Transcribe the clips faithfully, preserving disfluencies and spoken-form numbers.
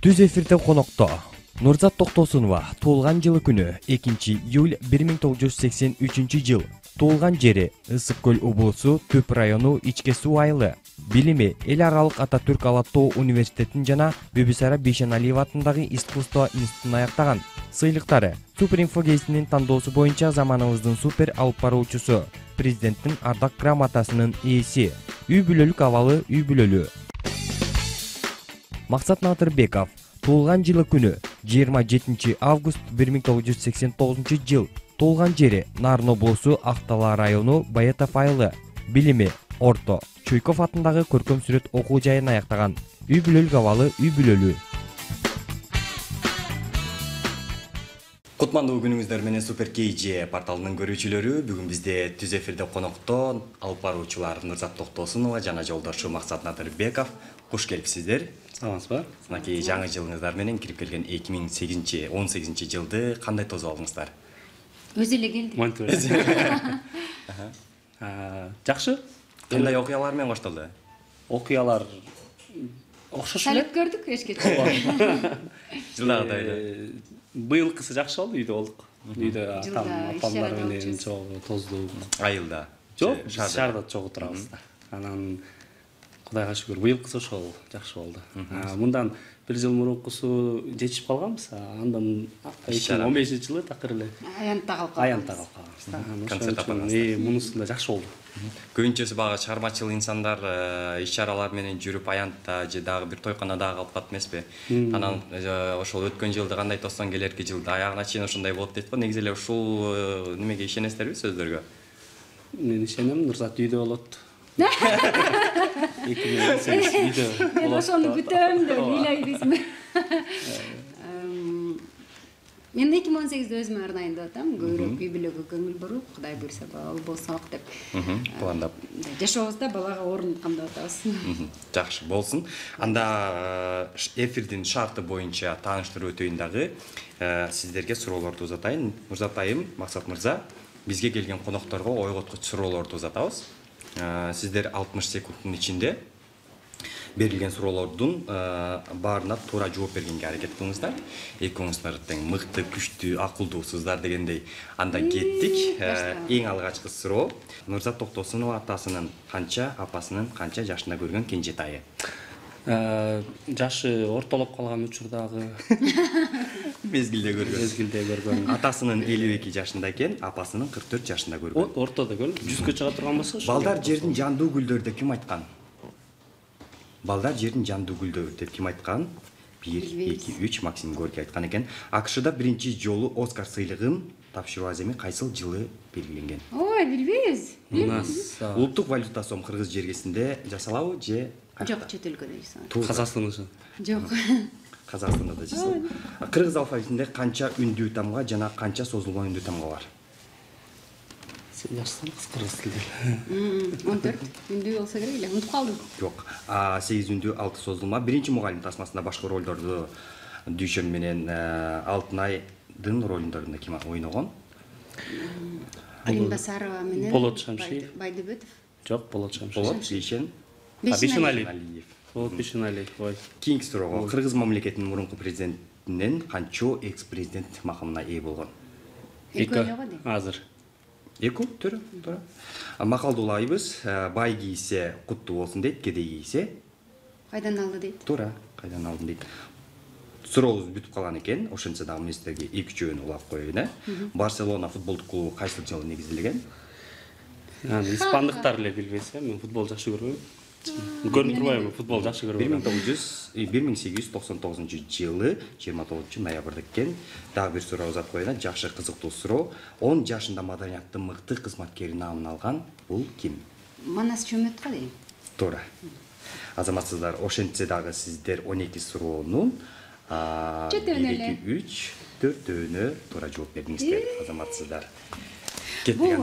Түз эфирде конокто Нурзат Токтосунова туулган жылы күнү экинчи июль бир миң тогуз жүз сексен үчүнчү жыл. Туулган жери Ысык көл облусу Түп району Ичке суу айылы. Билими эл аралык Ататүрк Ала тоо университетин жана Бибисара Бейшеналиева атындагы искусство институтун аяктаган. Сыйлыктары: Суперинфо гезитинин тандоосу боюнча заманыбыздын супер алып баруучусу, президенттин ардак грамотасынын ээси, үй бүлөлүк абалы үй бүлөлүү. Максат Надырбеков туулган жылы күнү жыйырма жетинчи август бир миң тогуз жүз сексен тогузунчу жыл. Туулган жери Нарын облусу Актала району Баятов айылы. Билими орто. Чуйков атындагы көркөм сүрөт окуу жайын аяктаган. Үй бүлөлүк абалы үй бүлөлүү. Кутмандуу күнүңүздөр менен Супер Кейджи порталынын көрүүчүлөрү. Бүгүн бизде түз эфирде конокто алып баруучулар Нурзат Токтосунова жана жолдошу Максат Надырбеков. Куш келипсиздер. Саламатсызбы? Мынакей жаңы жылыңыздар менен кирип келген эки миң он сегизинчи жылды кандай тосуп алдыңыздар? Өзү эле келди. Монтур. Жакшы. Кандай окуялар менен коштолду? Окуялар окшош эле. Салып көрдүк эшке. Жылдагыдай эле. Быйылкысы жакшы болду, үйдө болдук. Үйдө атам, апамдар менен чогуу тоздук. Айылда. Жок, шаарда чогуу турабыз да. Анан Кудайга шүгүр, быйылкысы ошол жакшы болду. Мындан бир жыл мурункусу жетишип калганбыз. Андан эки миң он бешинчи жылы такыр эле Аянтта калып аянтта калып калганбыз да. Концерт апарганбыз. Мунусунда жакшы болду. Көбүнчөсү бага чыгармачыл инсандар иш-чаралар менен жүрүп аянтта же дагы бир тойканада калып калат эмеспи? Анан ошол өткөн жылды кандай тоссоң келерки жылда аягына чейин ошондой болот дейт го. Негизи эле ушул немеге ишенесиздерби, сөздөргө? Мен ишенем, Нурзат үйдө болот. эки миң он сегиз үйдө болот. Мен ошону күтөм деп ыйлайбызмы? Мен эки миң он сегизде өзүмө арнайын деп атам. Көбүрөөк үй бүлөгө көңүл буруп, Кудай буйрса бала болсок деп. Пландап. Жашообузда балага орун кандап атабыз. Жакшы болсун. Анда эфирдин шарты боюнча тааныштыруу өтөйүн дагы. Сиздерге суроолорду узатайын. Нурзат айым, Максат мырза, бизге келген конокторго ойготкуч суроолорду узатабыз. Сиздер алтымыш секундтун ичинде берилген суроолордун баарына туура жооп бергенге аракет кылыңыздар. Экөөңүздөр тең мыкты, күчтүү, акылдуусуздар дегендей. Анда кеттик. Эң алгачкы суроо: Нурзат Токтосунова атасынын канча, апасынын канча жашында көргөн кенжетайы? Жашы ортолоп калган учурдагы мезгилде көргөн. Мезгилде көргөн. Атасынын элүү эки жашында экен, апасынын кырк төрт жашында көргөн. Ортодо көрүп, жүзгө чыга турган болсо. Балдар жердин жандуу гүлдөр деп ким айткан? Балдар жердин жандуу гүлдөр деп ким айткан? бир, эки, үч Максим Горький айткан экен. АКШда биринчи жолу Оскар сыйлыгын тапшыруу аземи кайсыл жылы белгиленген? Ой, билбейбиз. Улуттук валюта сом кыргыз жергесинде жасалабы же Жок, чет өлкөдө жасалат. Казакстанда. Жок. Казакстанда да жасалат. Кыргыз алфавитинде канча үндүү тамга жана канча созулган үндүү тамга бар? Сен жашсаң кыргыз тилде. он төрт үндүү болсо керек эле. Унутуп калдым. Жок. сегиз үндүү, алты созулма. Биринчи мугалим тасмасында башкы ролдорду Дүйшөн менен Алтынайдын ролдорунда ким ойногон? Алимбасарова менен Болот Шамшиев. Байдыбетов. Жок, Болот Шамшиев. Болот Бейшен. Бейшеналиев. Болот Бейшеналиев. Ой. Кийинки суроого: Кыргыз мамлекетинин мурунку президентинен канчо экс-президент макамына ээ болгон? Эки. Азыр. Эки, туура, туура. Макалдуулайбыз. Бай кийсе куттуу болсун дейт, кедей кийсе Кайдан алды дейт. туура, кайдан алдын дейт. Сурообуз бүтүп калган экен. Ошентсе дагы мен сиздерге эки-үчөөнү улап коеюн, э. Барселона футболдук клубу кайсы жылы негизделген? Аны испандыктар эле билбесе, мен футбол жакшы көрбөйм. Көрүнүп турбайбы, футбол жакшы көрбөйм. бир миң сегиз жүз токсон тогузунчу жылы жыйырма тогузунчу ноябрда экен. Дагы бир суроо узатып коеюн, жакшы кызыктуу суроо. он жашында маданияттын мыкты кызматкери наамын алган бул ким? Манас Чөмөтко дейм. Туура. Азаматсыздар, ошентсе дагы сиздер он эки суроонун бир, эки, үч, төртөөнө туура жооп бердиңиздер, азаматсыздар. Бул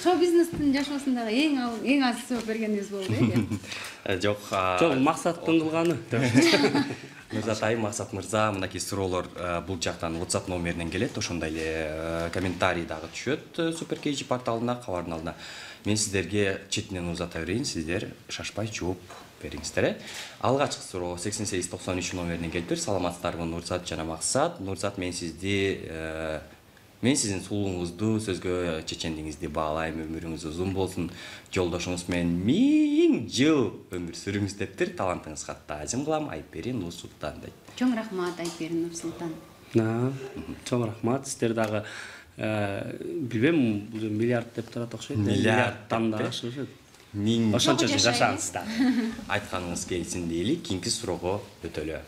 шоу бизнестин жашоосундагы эң эң аз жооп бергенибиз болду э. Жок, жок, Максаттын кылганы. Нурзат айым, Максат мырза, мынакей суроолор бул жактан WhatsApp номеринен келет, ошондой эле комментарий дагы түшөт Супер порталына, кабардын алдына. Мен сиздерге четинен узата берейин, сиздер шашпай жооп бериңиздер. Алгачкы суроо сексен сегиз токсон үч номерине келиптир. Саламатсыздарбы Нурзат жана Максат. Нурзат, мен сизди мен сиздин сулууңузду, сөзгө чечендигиңизди баалайм, өмүрүңүз узун болсун, жолдошуңуз менен миң жыл өмүр сүрүңүз дептир. Талантыңыз катта азим кылам, Айпери Нурсултан дейт. Чоң рахмат, Айпери Нурсултан. Чоң рахмат. Сиздер дагы билбейм, миллиард деп турат окшойт. Миллиардтан да ашышат. Миң Ошончо жашаңыздар. Айтканыңыз келсин дейли, кийинки суроого өтөлө.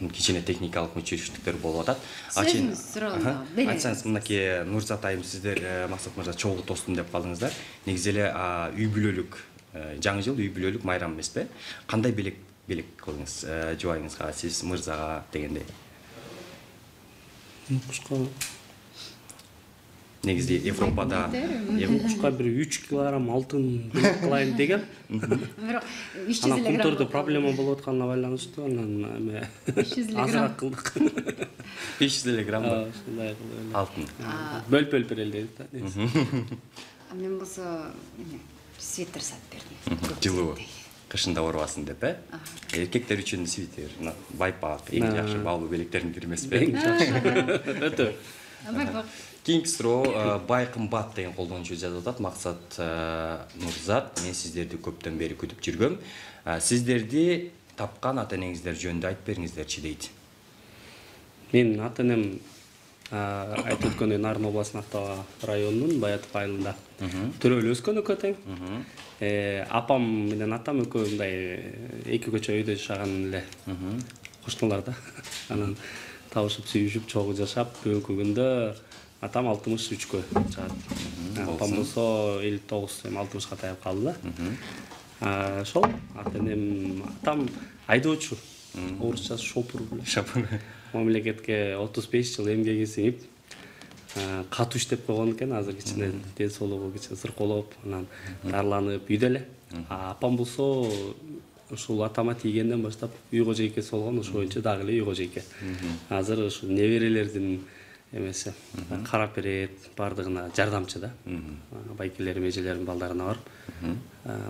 Кичине техникалык мүчөчүлүктөр болуп атат. Сөзүңүз суроону бериңиз. Айтсаңыз, мынакей Нурзат айым, сиздер Максат мырза чогуу достум деп калдыңыздар. Негизи эле үй бүлөлүк жаңы жыл үй бүлөлүк майрам эмеспи? Кандай белек белек кылдыңыз жубайыңызга, сиз мырзага дегендей? Кушка Негизи Европада кушка бир үч килограмм алтын кылайын деген. Бирок үч жүз Анан элүү кумтурда грамм проблема болуп атканына байланыштуу, анан эме үч жүз элүү азыраак грамм. кылдык. беш жүз элүү грамм Ушундай кылып алтын. бөлүп-бөлүп берели дейт. Мен болсо свитер сатып бердим. Жылуу кышында оорубасын деп, э? Эркектер үчүн свитер, байпак, эң жакшы баалуу белектердин бири эмеспи? Өтө. Байпак. Кийинки суроо бай кымбат деген колдонуучу жазып атат. Максат Нурзат, мен сиздерди көптөн бери күтүп жүргөм. Сиздерди тапкан ата энеңиздер жөнүндө айтып бериңиздерчи дейт. Мен ата энем айтып өткөндөй Нарын областынын Актау районунун Баятов айылында төрөлүп өскөн экөө тең. Апам менен атам экөө мындай эки көчө өйдө жашаган эле кошуналар да. Анан табышып, сүйүшүп, чогуу жашап, бүгүнкү күндө атам алтымыш үчкө чыгат. Апам болсо элүү тогуз, эми алтымышка таяп калды да. Ошол ата энем, атам айдоочу. Орусча шопур беле. Шопур. Мамлекетке отуз беш жыл эмгеги сиңип, катуу иштеп койгон экен. Азыр кичине ден соолугу кичине сыркоолоп, анан дарыланып үйдө эле. Апам болсо ушул атама тийгенден баштап үй кожойкеси болгон, ошол боюнча дагы эле үй кожойке. Азыр ушу неберелердин эмеси карап берет, бардыгына жардамчы да. Байкелерим, эжелерим балдарына барып,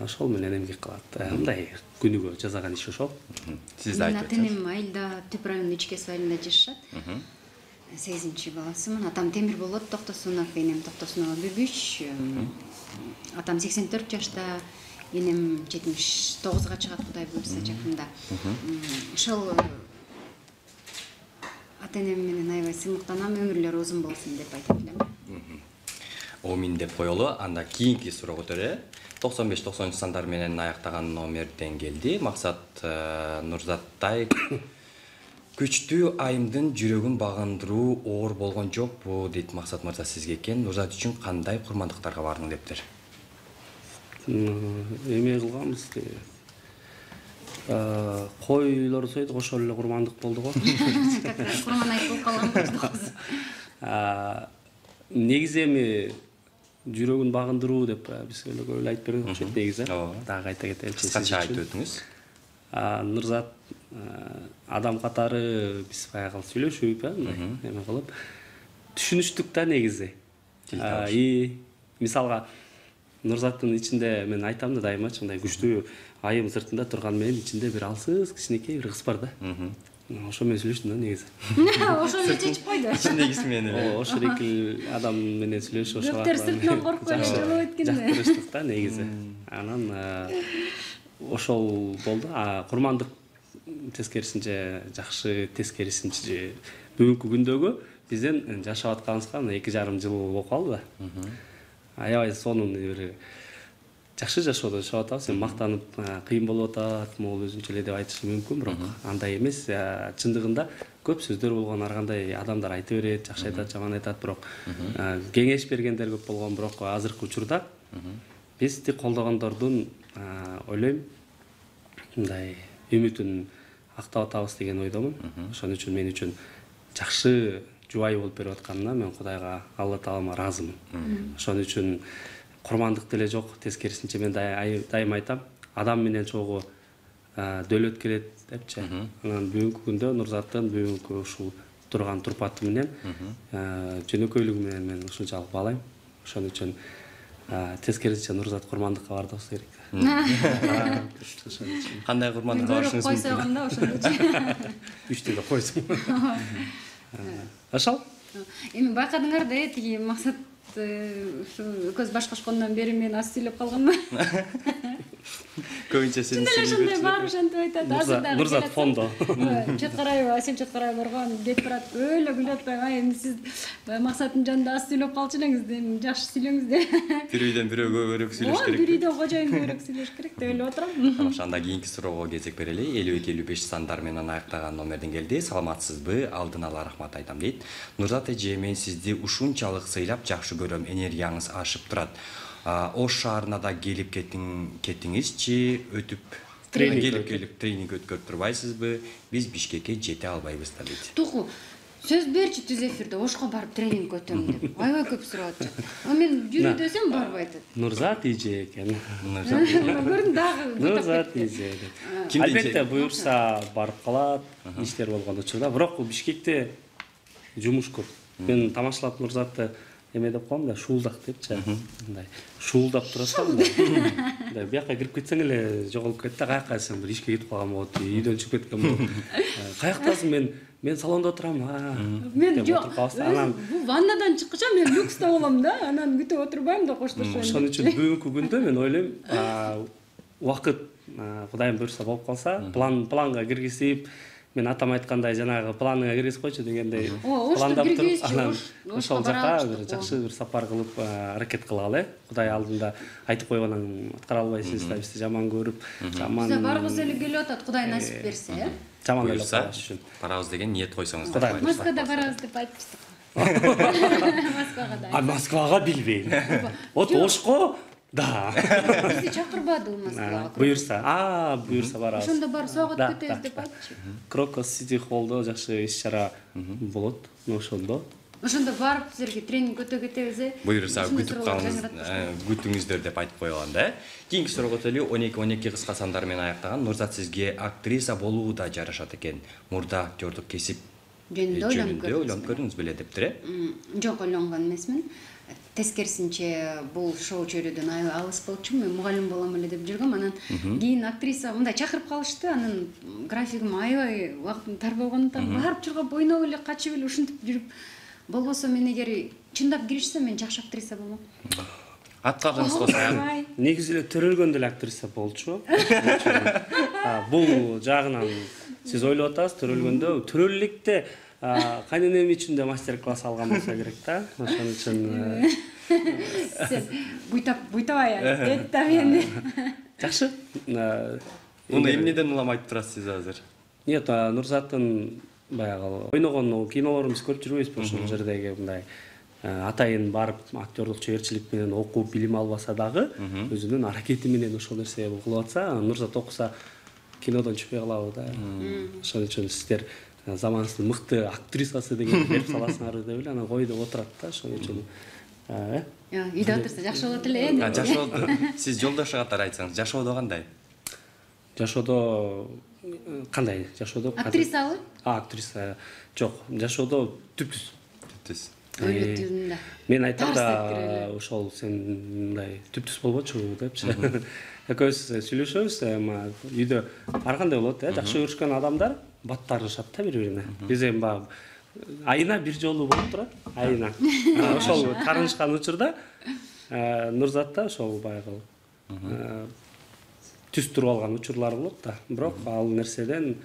ошол менен эмгек кылат. Мындай күнүгө жасаган иш ошол. Сиз да айтып Ата энем айылда Түп районунун Ичкес айылында жашашат. сегизинчи баласымын. Атам темир болот, Токтосунов, энем Токтосунова Бүбүч. Атам сексен төрт жашта, энем жетимиш тогузга чыгат, Кудай буйрса жакында. Ошол ата энем менен аябай сыймыктанам, өмүрлөрү узун болсун деп айтып элем. Омин деп коелу. Анда кийинки суроо көтөрө. токсон беш токсон үч сандар менен аяктаган номерден келди. Максат Нурзаттай күчтүү айымдын жүрөгүн багындыруу оор болгон жокпу дейт Максат мырза сизге экен. Нурзат үчүн кандай курмандыктарга бардың дептир? Эме кылганбыз. Койлор сойдук, ошол эле курмандык болду го. Курман айт болуп калганбыз. Негизи эми жүрөгүн багындыруу деп биз эле көп эле айтып берген окшойт негизи. Дагы айта кетели. Кыскача айтып өтүңүз. Нурзат адам катары биз баягы сүйлөшүп, эме кылып түшүнүштүк да негизи. И мисалга Нурзаттын ичинде мен айтам да дайыма, мындай күчтүү айым сыртында турган менен ичинде бир алсыз кичинекей бир кыз бар да. Ошо менен сүйлөштүм да негизи. Ошо эле чечип койду. Ичиндегиси менен эле. Ошо эки адам менен сүйлөшүп ошо. Көптөр сыртынан коркпой болуп эткенде. Жактырыштык да негизи. Анан ошол болду. Курмандык тескерисинче жакшы, тескерисинче бүгүнкү күндөгү бизден жашап атканыбызга мына эки жарым жыл болуп калды да. Аябай сонун бир жакшы жашоодо жашап атабыз. Эми мактанып кыйын болуп атат, могул өзүнчө эле деп айтышы мүмкүн, бирок андай эмес. Чындыгында көп сөздөр болгон, ар кандай адамдар айта берет, жакшы айтат, жаман айтат, бирок кеңеш бергендер көп болгон, бирок азыркы учурда бизди колдогондордун ойлойм мындай үмүтүн актап атабыз деген ойдомун. Ошон үчүн мен үчүн жакшы жубай болуп берип атканына мен Кудайга, Алла Таалама ыраазымын. Ошон үчүн курмандык деле жок, тескерисинче мен дайым айтам, адам менен чогуу дөөлөт келет депчи. Анан бүгүнкү күндө Нурзаттын бүгүнкү ушул турган турпаты менен жөнөкөйлүгү менен мен ушунчалык баалайм. ошон үчүн тескерисинче Нурзат курмандыкка барды болсо керек. Кандай курмандыкка барышыңыз көрүп койсогом да ошондо. Үчтү да койсоң. Ошол. Эми байкадыңар да тиги максат ушу көз баш кошкондон бери мен аз сүйлөп калганмын. Көбүнчө сен Чындап эле ошондой баары ошентип айтат. Азыр дагы Нурзат фондо. Чоткарайбы, Асел Чоткарай барган деп барат. Өлө күлүп атпайм. Ай эми сиз максаттын жанында аз сүйлөп калчу элеңиз да, эми жакшы сүйлөңүз да. Бир үйдөн бирөө көбүрөөк сүйлөш керек. Бир үйдөн кожоюн көбүрөөк сүйлөш керек деп ойлоп отурам. Ошондо кийинки суроого кезек берели. элүү эки элүү беш сандар менен аяктаган номерден келди. Саламатсызбы? Алдын ала рахмат айтам дейт. Нурзат эже, мен сизди ушунчалык сыйлап жакшы көрөм. Энергияңыз ашып турат. Ош шаарына да келип кеттиңизчи, өтүп келип келип тренинг өткөрүп турбайсызбы? Биз Бишкекке жете албайбыз да дейт. Тугу, сөз берчи түз эфирде Ошко барып тренинг өтөм деп. Аябай көп сурап атат. А мен жүрү десем барбай атат. Нурзат эже экен. Көрдүң дагы. Нурзат эже. Албетте буюрса барып калат, иштер болгон учурда. Бирок Бишкекте жумуш көп. Мен тамашалап Нурзатты эме деп коем да, шуулдак депчи. Мындай шуулдап турасам да. Мындай бияка кирип кетсең эле жоголуп кетти да, каяка сен бир ишке кетип калган болот, үйдөн чыгып кеткен болот. Каяктасың? Мен мен салондо отурам. Мен жок. Бул ваннадан чыккыча мен люкста болом да, анан күтүп отурбайм да коштошоюн. Ошон үчүн бүгүнкү күндө мен ойлойм, убакыт Кудайым буйрса болуп калса, план планга киргизип, мен атам айткандай жанагы планыңа киргизип койчу дегендей пландап туруп, анан ошол жака бир жакшы бир сапар кылып аракет кылалы. Кудай алдында айтып койгонун аткара албайсыз да, бизди жаман көрүп, жаман. Биз барыбыз эле келип атат, Кудай насип берсе, э? Жаман эле кылыш үчүн. Барабыз деген ниет койсоңуз да. Москвада барабыз деп айтыпсыз. Москвага да. А Москвага билбейм. Вот Ошко да. Бизди чакырбады Москвага. Буйрса, а буйрса барабыз. Ошондо барып согат кетебиз деп айтчы. Крокус Сити Холлдо жакшы иш-чара болот. Ошондо. Ошондо барып силерге тренинг өтө кетебиз, э? Буйрса күтүп калыңыз, күтүңүздөр деп айтып койгон да. Кийинки суроого өтөлү. он эки он эки кыска сандар менен аяктаган. Нурзат сизге актриса болуу да жарашат экен. Мурда актёрдук кесип жөнүндө ойлонуп көрдүңүз беле дептир, э? Жок, ойлонгон эмесмин. Тескерисинче бул шоу чөйрөдөн аябай алыс болчу. Мен мугалим болом эле деп жүргөм. Анан кийин актриса мындай чакырып калышты. Анан графигим аябай убактым тар болгондуктан барып чургап ойноп эле качып эле ушинтип жүрүп, болбосо мен эгер чындап киришсем мен жакшы актриса болмок. Аткарыңыз болсо. Негизи эле төрөлгөн деле актриса болчу. Бул жагынан сиз ойлоп атасыз, төрөлгөндө төрөллүктө кайненем үчүн да мастер-класс алган болсо керек да. Ошон үчүн сен буйтап буйтабай айт да мен. Жакшы. Муну эмнеден улам айтып турасыз азыр? Нет, Нурзаттын баягы ойногон кинолорун биз көрүп жүрбөйбүзбү ошол жердеги мындай атайын барып актёрдук чеберчилик менен окуп билим албаса дагы өзүнүн аракети менен ошол нерсе кылып атса, Нурзат окуса кинодон чыкпай калабы да. Ошон үчүн сиздер заманыбыздын мыкты актрисасы деген берип саласыңар деп эле анан кой деп отурат да. Ошон үчүн э үйдө отурса жакшы болот эле. Жашоодо сиз жолдошу катары айтсаңыз, жашоодо кандай? Жашоодо кандай? Жашоодо актрисабы? А, актриса. Жок, жашоодо түптүз. Түптүз. Өлөтүндө. Мен айтам да, ошол сен мындай түптүз болбочу депчи. Экөөбүз сүйлөшөбүз, эми үйдө ар кандай болот, э, жакшы көрүшкөн адамдар баттарышат да бири-бирине. Биз эми баягы айына бир жолу болуп турат, айына. Ошол таарынышкан учурда Нурзат да ошол баягы түз туруп алган учурлар болот да. Бирок ал нерседен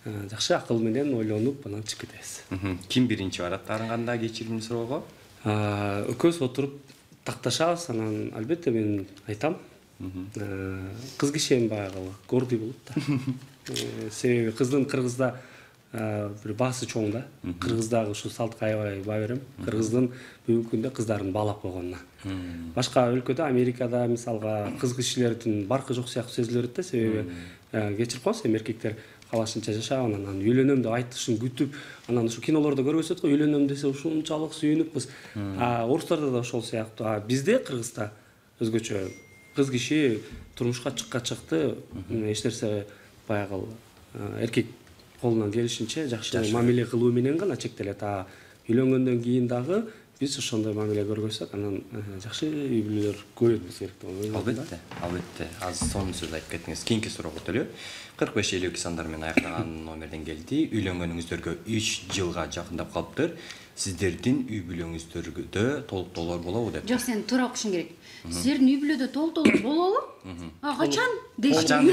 жакшы акыл менен ойлонуп анан чыгып кетебиз. Ким биринчи барат таарынганда кечирим суроого? Экөөбүз отуруп такташабыз, анан албетте мен айтам. Кыз киши эми баягы гордый болот да. Себеби кыздын Кыргызда бир баасы чоң да. Кыргыздагы ушу салтка аябай баа берем. Кыргыздын бүгүнкү күндө кыздарын баалап койгонуна. Башка өлкөдө, Америкада мисалга кыз кишилердин баркы жок сыяктуу сезилет да, себеби кечирип коесуз, эми эркектер калашынча жашап, анан үйлөнөм деп айтышын күтүп, анан ушу кинолордо көрүп өтөт го, үйлөнөм десе ушунчалык сүйүнүп, а орустарда да ошол сыяктуу. А бизде Кыргызда өзгөчө кыз киши турмушка чыкка чыкты, эч нерсе баягы эркек колунан келишинче жакшы мамиле кылуу менен гана чектелет. А үйлөнгөндөн кийин дагы биз ошондой мамиле көргөзсөк, анан жакшы үй бүлөлөр көбөйтүбүз керек деп ойлойм. Албетте, албетте. Азыр сонун сөз айтып кеттиңиз. Кийинки суроого өтөлү. кырк беш элүү эки сандар менен аяктаган номерден келди. Үйлөнгөнүңүздөргө үч жылга жакындап калыптыр. Сиздердин үй бүлөңүздөрдө толуктоолор болобу деп. Жок, сен туура окушуң керек. Сиздердин үй бүлөдө толуктоолор болобу? А качан дейсиң?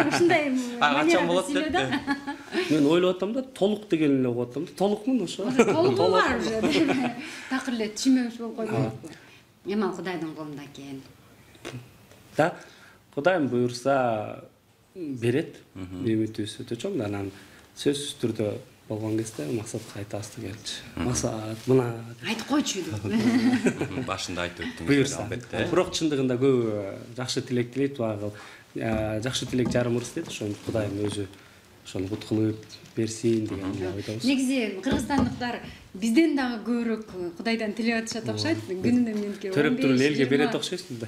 Ушундай качан болот деп. Мен ойлоп атам да, толук деген эле угуп атам да. Толукмун ошо. Толугу бар уже. Такыр эле түшүнбөмүш болуп койду. Эми ал Кудайдын колунда экен. Да, Кудайым буйрса берет. Үмүтүбүз өтө чоң. Анан сөзсүз түрдө болгон кезде максатка айтабыз келчү. Максат мына айтып койчу деп. Башында айтып өттүңүз. Буйрса. Бирок чындыгында көп жакшы тилек тилейт, багыл. Жакшы тилек жарым ырыс дейт, ошону Кудайым өзү ошону кут кылып берсин деген ойдобуз. Негизи кыргызстандыктар бизден дагы көбүрөөк Кудайдан тилеп атышат окшойт. Күнүнө менке төрөп туруп элге берет окшойсуң да.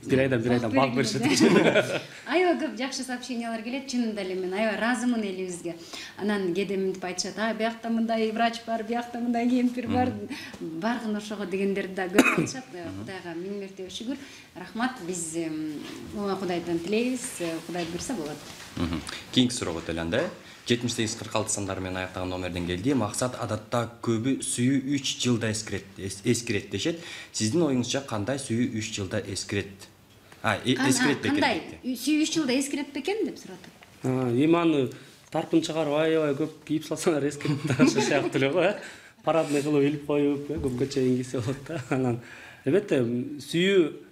Бир айдан бир айдан балк беришет. Аябай көп жакшы сообщениялар келет, чынында эле мен аябай ыраазымын элибизге. Анан кээде мынтип айтышат, а биякта мындай врач бар, биякта мындай кемпир бар, баргын ошого дегендерди да көп айтышат. Кудайга миң мертебе шүгүр, рахмат. Биз Кудайдан тилейбиз, Кудай буйрса болот. Кийинки суроого өтөлү анда. жетимиш сегиз кырк алты сандар менен аяктаган номерден келди. Максат адатта көбү сүйүү үч жылда эскирет, эскирет дешет. Сиздин оюңузча кандай сүйүү үч жылда эскирет? А, эскирет бекен. Кандай? Сүйүү үч жылда эскирет бекен деп сурады. А, иманы тарпын чыгарып аябай көп кийип салсаңар эскирет да ошо сыяктуу эле го, э. Парадный кылып илип коюп, көпкө чейин кийсе болот да. Анан албетте сүйүү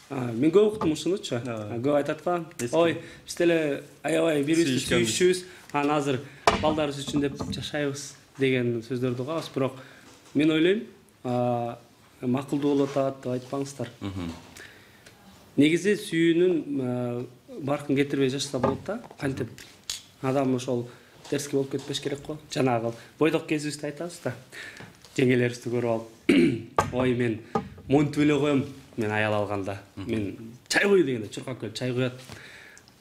мен көп уктум ушунучу. Көп айтат го. Ой, биз деле аябай бири-бирибизди сүйүшүбүз, анан азыр балдарыбыз үчүн деп жашайбыз деген сөздөрдү угабыз. Бирок мен ойлойм, макулдуу болуп атат деп айтпаңыздар. Негизи сүйүүнүн баркын кетирбей жашаса болот да. Кантип адам ошол терски болуп кетпеш керек го. Жанагы бойдок кезибизде айтабыз да. Жеңелерибизди көрүп алып, ой мен монтип эле коем. Мен аял алганда, мен чай кой дегенде чуркап келип чай куят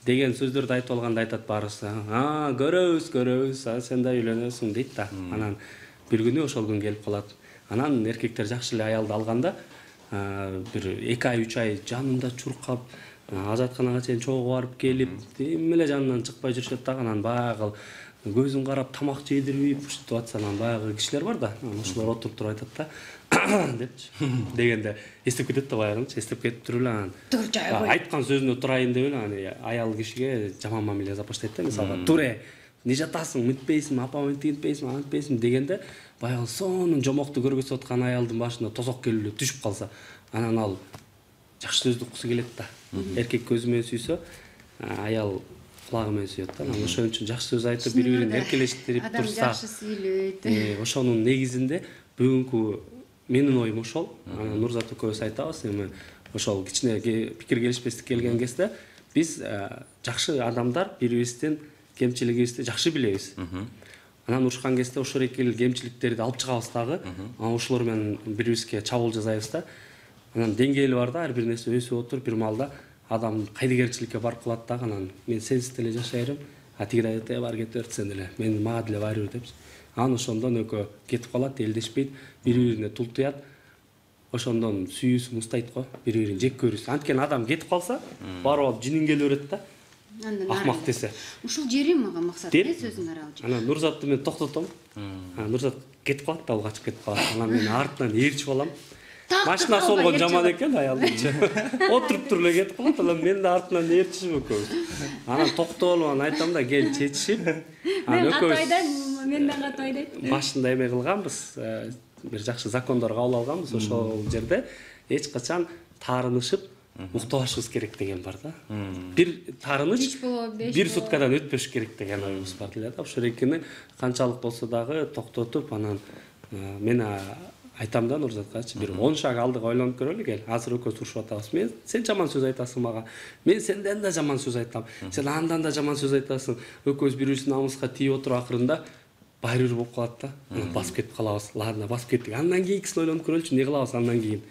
деген сөздөрдү айтып алганда айтат баарысы. А, көрөбүз, көрөбүз, сен да үйлөнөсүң дейт да. Анан бир күнү ошол күн келип калат. Анан эркектер жакшы эле аялды алганда, бир эки ай, үч ай жанында чуркап, ажатканага чейин чогуу барып келип, эми эле жанынан чыкпай жүрүшөт да. Анан баягы көзүн карап тамак жедирбей ушинтип атса, анан баягы кишилер бар да. Ошолор отуруп туруп айтат да. Депчи. Дегенде эстеп кетет да баягынчы, эстеп кетип туруп эле анан айткан сөзүнө турайын деп эле аны аял кишиге жаман мамиле жасап баштайт да. Мисалга, туре, не жатасың, мынтпейсиңби, апам мынтпейсиңби, антпейсиңби дегенде, баягы сонун жомокту көргөзүп аткан аялдын башына тозок келип эле түшүп калса, анан ал жакшы сөздү уккусу келет да. Эркек көзү менен сүйсө, аял кулагы менен сүйөт да. Анан ошон үчүн жакшы сөз айтып, бири-бирин эркелештирип турса, адам жакшы сүйлөйт. Ошонун негизинде бүгүнкү менин оюм ошол. Нурзат экөөбүз айтабыз, эми ошол кичине пикир келишпестик келген кезде биз жакшы адамдар бири-бирибиздин кемчилигибизди жакшы билебиз. Анан урушкан кезде ошол экил кемчиликтерди алып чыгабыз дагы. Анан ошолор менен бири-бирибизге чабуул жасайбыз да. Анан деңгээли бар да, ар бир нерсе өсүп отуруп, бир маалда адам кайдыгерчиликке барып калат дагы. Анан мен сенсиз деле жашай берем, а тиги айтат, бар кетип берт сен деле, мен мага деле баары бир депчи. Анан ошондон экөө кетип калат, элдешпейт, бири-бирине тултуят. Ошондон сүйүүсүн устайт го, бири-бирин жек көрүсүн. Анткени адам кетип калса, барып алып жинин келе берет да. Акмак десе. Ушул жери мага максат э сөзүң аралчы. Анан Нурзатты мен токтотом. Анан Нурзат кетип калат да, ал качып кетип калат. Анан мен артынан ээрчип алам. Машина солгон жаман экен аялдычы. Отуруп туруп эле кетип калат, анан мен да артынан ээрчишип экөөбүз. Анан токтолуп анан айтам да, кел чечишип. Анан экөөбүз мен да катып айдайт. Башында эме кылганбыз, бир жакшы закондор кабыл алганбыз, ошол жерде эч качан таарынышып уктабашыбыз керек деген бар да. Бир таарыныч бир суткадан өтпөш керек деген оюбуз бар эле да. Ошол экини канчалык болсо дагы токтотуп, анан мен айтам да Нурзаткачы, бир он шаг алдыга ойлонуп көрөлү кел. Азыр экөөбүз урушуп атабыз. Мен сен жаман сөз айтасың мага. Мен сенден да жаман сөз айтам. Сен андан да жаман сөз айтасың. Экөөбүз бири-бирибиздин намыска тийип отуруп акырында баары бир болуп калат да. Анан басып кетип калабыз. Ладно, басып кеттик. Андан кийинкисин ойлонуп көрөлүчү, эмне кылабыз андан кийин?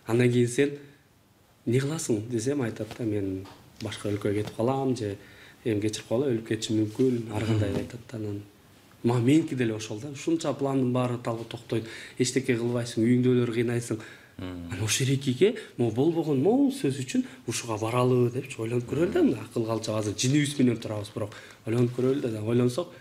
Андан кийин сен эмне кыласың десем айтат да, мен башка өлкөгө кетип калам же эми кечирип кала, өлүп кетишим мүмкүн, ар кандай айтат да. Анан мага меники деле ошол да. Ушунча пландын баары талга токтойт. Эчтеке кылбайсың, үйүңдөлөр кыйнайсың. Анан ошол эркекке могу болбогон могу сөз үчүн ушуга баралы депчи ойлонуп көрөлү да. Мына акыл калча азыр жинибиз менен турабыз, бирок ойлонуп көрөлү да. Ойлонсок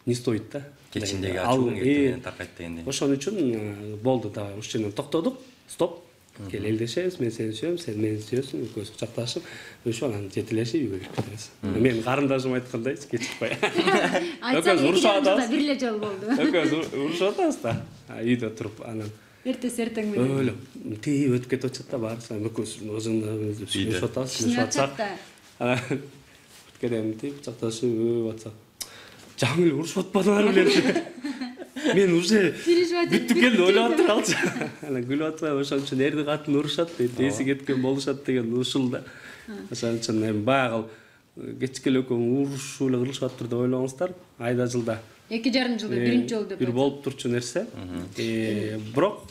не стоит да. Кечиндеги ачууң эртеңен таркайт дегендей. Ошон үчүн болду да. Ушул жерден токтодук. Стоп. Кел элдешебиз, мен сени сүйөм, сен мени сүйөсүң, экөөбүз кучакташып, ошо анан жетелешип үйгө кирип кетебиз. Менин карындашым айткандай, кечикпай. Айтсак экинчи жылда бир эле жолу болду. Экөөбүз урушуп атабыз да. Үйдө туруп анан эртеси эртең менен өлө тип өтүп кетип атат да баарыбыз. Экөөбүз өзүңдү сүйлөшүп атабыз, сүйлөшүп атсак. Анан өткөдөн тип кучакташып өп атсак. Жаңыл урушуп атпадыңар беле? Мен уже бүттүп келди, ойлоп атыралчы. Анан күлүп атпай, ошон үчүн эрди катын урушат дейт, эси кеткен болушат деген ушул да. Ошон үчүн эми баягы кечке эле экөө урушуп эле кылышып атыр деп ойлоңуздар. Айда жылда эки жарым жылда биринчи жолу деп бир болуп турчу нерсе. Бирок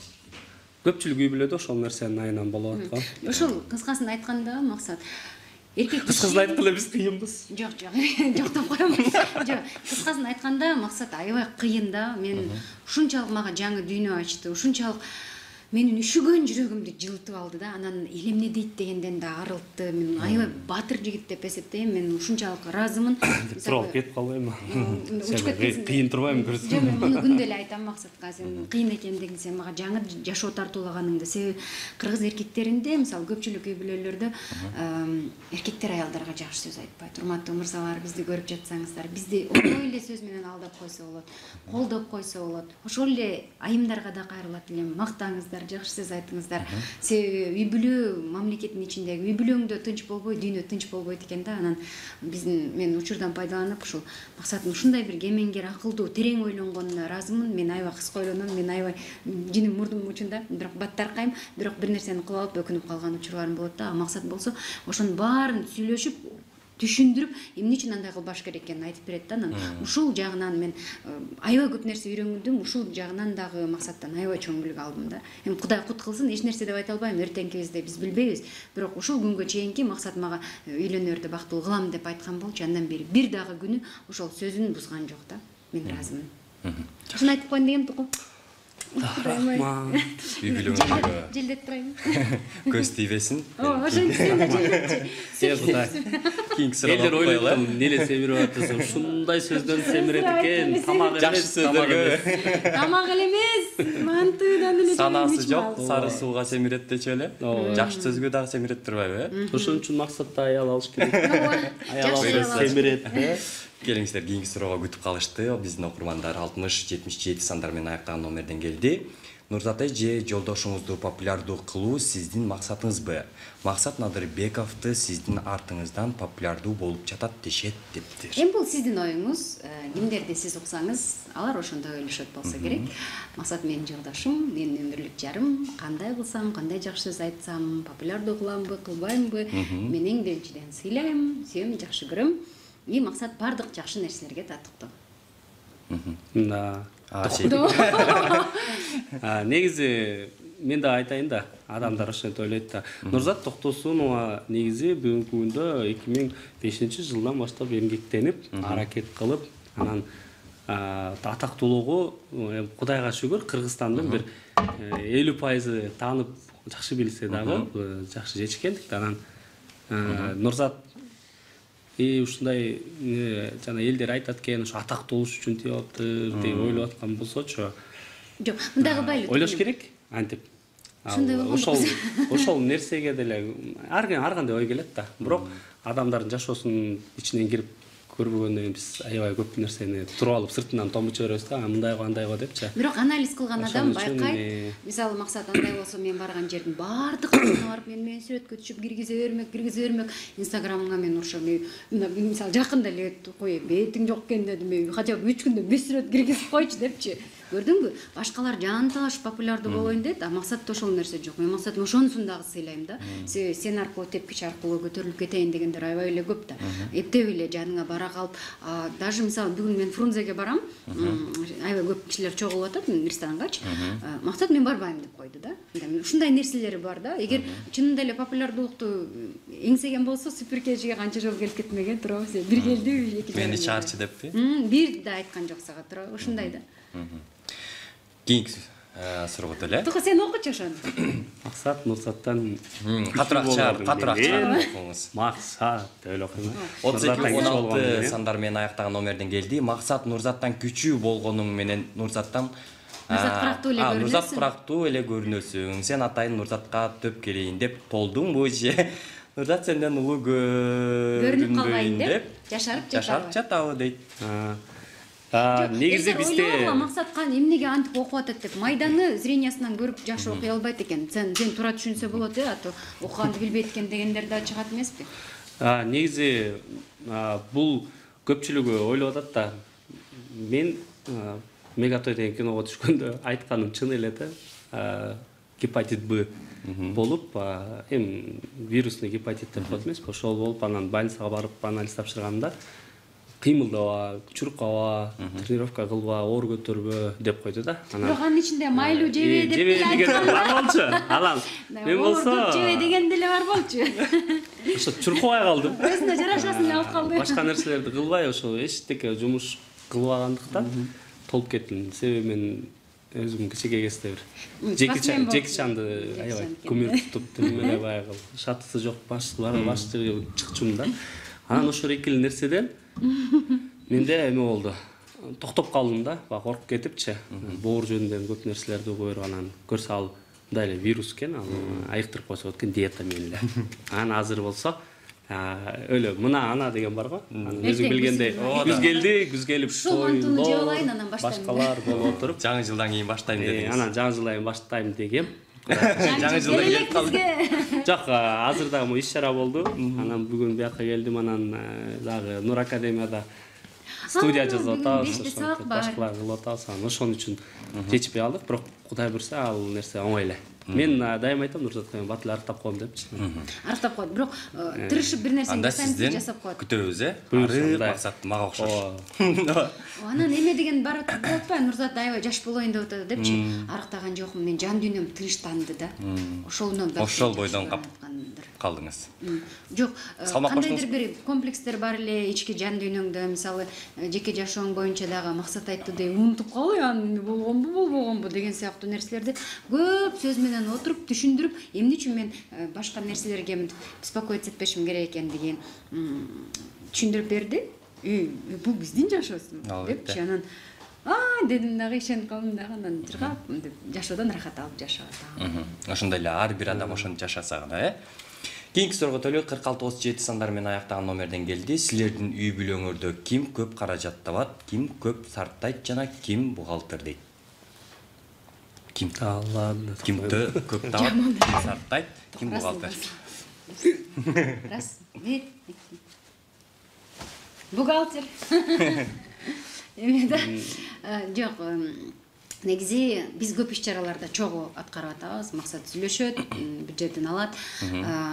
көпчүлүк үй бүлөдө ошол нерсенин айынан болуп аткан. Ошол кыскасын айтканда максат эркек кыскасын айтканда биз кыйынбыз. Жок, жок. Жок деп коем. Жок. Кыскасын айтканда максат аябай кыйын да. Мен ушунчалык мага жаңы дүйнө ачты. Ушунчалык менин үшүгөн жүрөгүмдү жылытып алды да. Анан эл эмне дейт дегенден да арылтты. Мен аябай баатыр жигит деп эсептейм. Мен ушунчалык ыраазымын. Туруп кетип калбайм. Кыйын турбайм көрсөм. Жок, мен муну күндө эле айтам максатка. Сен кыйын экендигин сен мага жаңы жашоо тартуулаганыңды. Себеби кыргыз эркектеринде, мисалы көпчүлүк үй бүлөлөрдө эркектер аялдарга жакшы сөз айтпайт. Урматтуу мырзалар, бизди көрүп жатсаңыздар, бизди ошол эле сөз менен алдап койсо болот, колдоп койсо болот. Ошол эле айымдарга да кайрылат элем. Мактаңыздар, жакшы сөз айтыңыздар. Себеби үй бүлө мамлекеттин ичиндеги үй бүлөңдө тынч болбой, дүйнө тынч болбойт экен да. Анан биздин мен учурдан пайдаланып ушул максатын ушундай бир кемеңгер, акылдуу, терең ойлонгонуна ыраазымын. Мен аябай кыска ойлоном, мен аябай жиним мурдум учунда, бирок баттаркайм, бирок бир нерсени кылып алып өкүнүп калган учурларым болот да. Максат болсо ошонун баарын сүйлөшүп, түшүндүрүп, эмне үчүн андай кылбаш керек экенин айтып берет да. Анан ушул жагынан мен аябай көп нерсе үйрөнгүм, ушул жагынан дагы максаттан аябай чоң билги алдым да. Эми Кудай кут кылсын, эч нерсе деп айта албайм, эртеңкибизди биз билбейбиз. Бирок ушул күнгө чейинки максат мага үйлөнөрдө бактылуу кылам деп айткан болчу. Андан бери бир дагы күнү ошол сөзүн бузган жок да. Мен ыраазымын. Ушуну айтып коеюн дегем туку. Рахмат. Үй бүлөңүзгө Желдетип турайын. көз тийбесин. Ооба, ошентип сен да желдетчи. Кийинки суроого Элдер ойлойт, неле семирип атасың, ушундай сөздөн семирет экен, тамак жакшы эмес, сөздөргө Тамак эле эмес, мантыдан эле санасы жок, сары сууга семирет дечи эле. Жакшы сөзгө дагы семирет турбайбы? Ошон үчүн максатта аял алыш керек. Аял Жакшы алса семирет. Келиңиздер, кийинки суроого күтүп калышты. Биздин окурмандар алтымыш жетимиш жети сандар менен аяктаган номерден келди. Нурзат эже, же жолдошуңузду популярдуу кылуу сиздин максатыңызбы? Максат Надырбековду сиздин артыңыздан популярдуу болуп жатат дешет дептир. Эми бул сиздин оюңуз, кимдерди сиз уксаңыз, алар ошондой ойлошот болсо керек. Максат менин жолдошум, менин өмүрлүк жарым, кандай кылсам, кандай жакшы сөз айтсам, популярдуу кыламбы, кылбаймбы, мен эң биринчиден сыйлайм, сүйөм, жакшы көрөм. И максат бардык жакшы нерселерге татыктуу. Да. Негизи мен да айтайын да, адамдар ошентип ойлойт да. Нурзат Токтосунова негизи бүгүнкү күндө эки миң бешинчи жылдан баштап эмгектенип, аракет кылып, анан атактуулугу Кудайга шүгүр Кыргызстандын бир элүү пайызы таанып, жакшы билсе дагы жакшы жетишкендик. Анан Нурзат и ушундай жана элдер айтат экен, ушу атактуу болуш үчүн тип атыптыр деп ойлоп аткан болсочу. Жок, мындагы байлык. Ойлош керек, антип. Ушундай болгон. Ошол ошол нерсеге деле ар кандай ой келет да. Бирок адамдардын жашоосунун ичинен кирип көрбөгөндөн кийин биз аябай көп нерсени туруп алып сыртынан томучу беребиз да, мындайго андайго депчи. Бирок анализ кылган адам байкайт. Мисалы максат андай болсо, мен барган жердин баардык кызына барып мен менен сүрөткө түшүп киргизе бермек, киргизе бермек. Инстаграмга мен ошо мисалы жакында эле кой, бетиң жок экен дедим, хотя бы үч күндө беш сүрөт киргизип койчу депчи. Көрдүңбү? Башкалар жан талашып популярдуу болоюн дейт, а максатта ошол нерсе жок. Мен максат ошонусун дагы сыйлайм да. Сен аркылуу тепкич аркылуу көтөрүлүп кетейин дегендер аябай эле көп да. Эптеп эле жаныңа бара калып, даже мисалы бүгүн мен Фрунзеге барам, аябай көп кишилер чогулуп атат ресторанганчы. Максат мен барбайм деп койду да. Ушундай нерселери бар да. Эгер чынында эле популярдуулукту эңсеген болсо суперкежиге канча жолу келип кетмеген туурабы сен бир келдиби эки мени чаарчы деппи бир да айткан жок сага туурабы ушундай да кийинки суроо эле тука сен окучу ошону Максат Нурзаттан катуураак чыгар катуураак чыгар окуңуз Максат деп эле окуйм отуз эки он алты сандар менен аяктаган номерден келди. Максат Нурзаттан күчүү болгонуң менен Нурзаттан Нурзат кырактуу эле көрүнөсүң. Нурзат кырактуу эле көрүнөсүң. Сен атайын Нурзатка төп келейин деп толдуңбу же? Нурзат сенден улуу көрүнүп калбайын көрүнбөйүн деп жашарып жашарып жатабы дейт. негизи бизде Максат эмнеге антип окуп атат деп майданы зрениясынан көрүп жакшы окуй албайт экен. Сен сен туура түшүнсө болот э, ато окуганды билбейт экен дегендер да чыгат эмеспи? негизи бул көпчүлүгү ойлоп атат да. Мен Мегатой деген киного түшкөндө айтканым чын эле да. Гепатит Б болуп, эми вирусный гепатит деп коет эмеспи? Ошол болуп, анан больницага барып анализ тапшырганымда кыймылдаба, чуркаба, тренировка кылба, оор көтөрбө деп койду да. Бирок анын ичинде майлуу жебе деп жебе деген бар болчу. Анан мен болсо жебе деген деле бар болчу. Ошо чуркабай калдым. Өзүнө жарашасын алып калды. Башка нерселерди кылбай, ошо эчтеке жумуш кылбагандыктан толуп кеттим. Себеби мен өзүм кичине кезде бир Жеки Жекичанды аябай кумир тутуп, эле баягы шатысы жок баштыгы баштыгы чыкчумун да. Анан ошол экили нерседен менде эме болду. Токтоп калдым да, коркуп кетипчи. Боор жөнүндө көп нерселерди угуп анан көрсө ал мындай эле вирус экен, ал айыктырып койсо экен диета менен эле. Анан азыр болсо өлө мына ана деген бар го. Анан өзүң билгендей күз келди, күз келип шойлоо жеп алайын анан баштайм. Башкалар болуп отуруп, жаңы жылдан кийин баштайм дедиңиз. Анан жаңы жылдан баштайм дегем. жаңы жылда келип калды. Жок, азыр дагы иш чара болду. Анан бүгүн бияка келдим, анан дагы Нур Академияда студия жазып атабыз, башкалар кылып атабыз. Анан ошон үчүн жетишпей калдык, бирок Кудай буйрса ал нерсе оңой эле. Мен дайым айтам, Нурзатка мен батыл арыктап коем депчи. Арыктап коет, бирок тырышып бир нерсени жасайм деп жасап коет. Күтөбүз э. Ары максат мага окшош. Анан эме деген бар болуп атпайбы, Нурзат аябай жаш болоюн деп атат депчи. Арыктаган жокмун, мен жан дүйнөм тынчтанды да. Ошондон ошол бойдон калдыңыз. Жок, кандайдыр бир комплекстер бар эле ички жан дүйнөңдө, мисалы жеке жашооң боюнча дагы максат айттыдай унутуп калып, аны болгонбу, болбогонбу деген сыяктуу нерселерди көп сөз менен отуруп түшүндүрүп, эмне үчүн мен башка нерселерге беспокоиться этпешим керек экендигин түшүндүрүп берди. Бул биздин жашоосу депчи. Анан а дедим дагы ишенип калдым дагы, анан жыргап жашоодон рахат алып жашап атам. Ошондой эле ар бир адам ошентип жашаса гана э. Кийинки суроого төлөп кырк алты отуз жети сандар менен аяктаган номерден келди. Силердин үй бүлөңөрдө ким көп каражат табат, ким көп сарптайт жана ким бухгалтер дейт? Ким? Ладно. Кимди көп табат, ким сарптайт, ким бухгалтер? Раз, бир, бухгалтер. Эме да. Жок, негизи биз көп иш чараларда чогуу аткарып атабыз. Максат сүйлөшөт, бюджетин алат.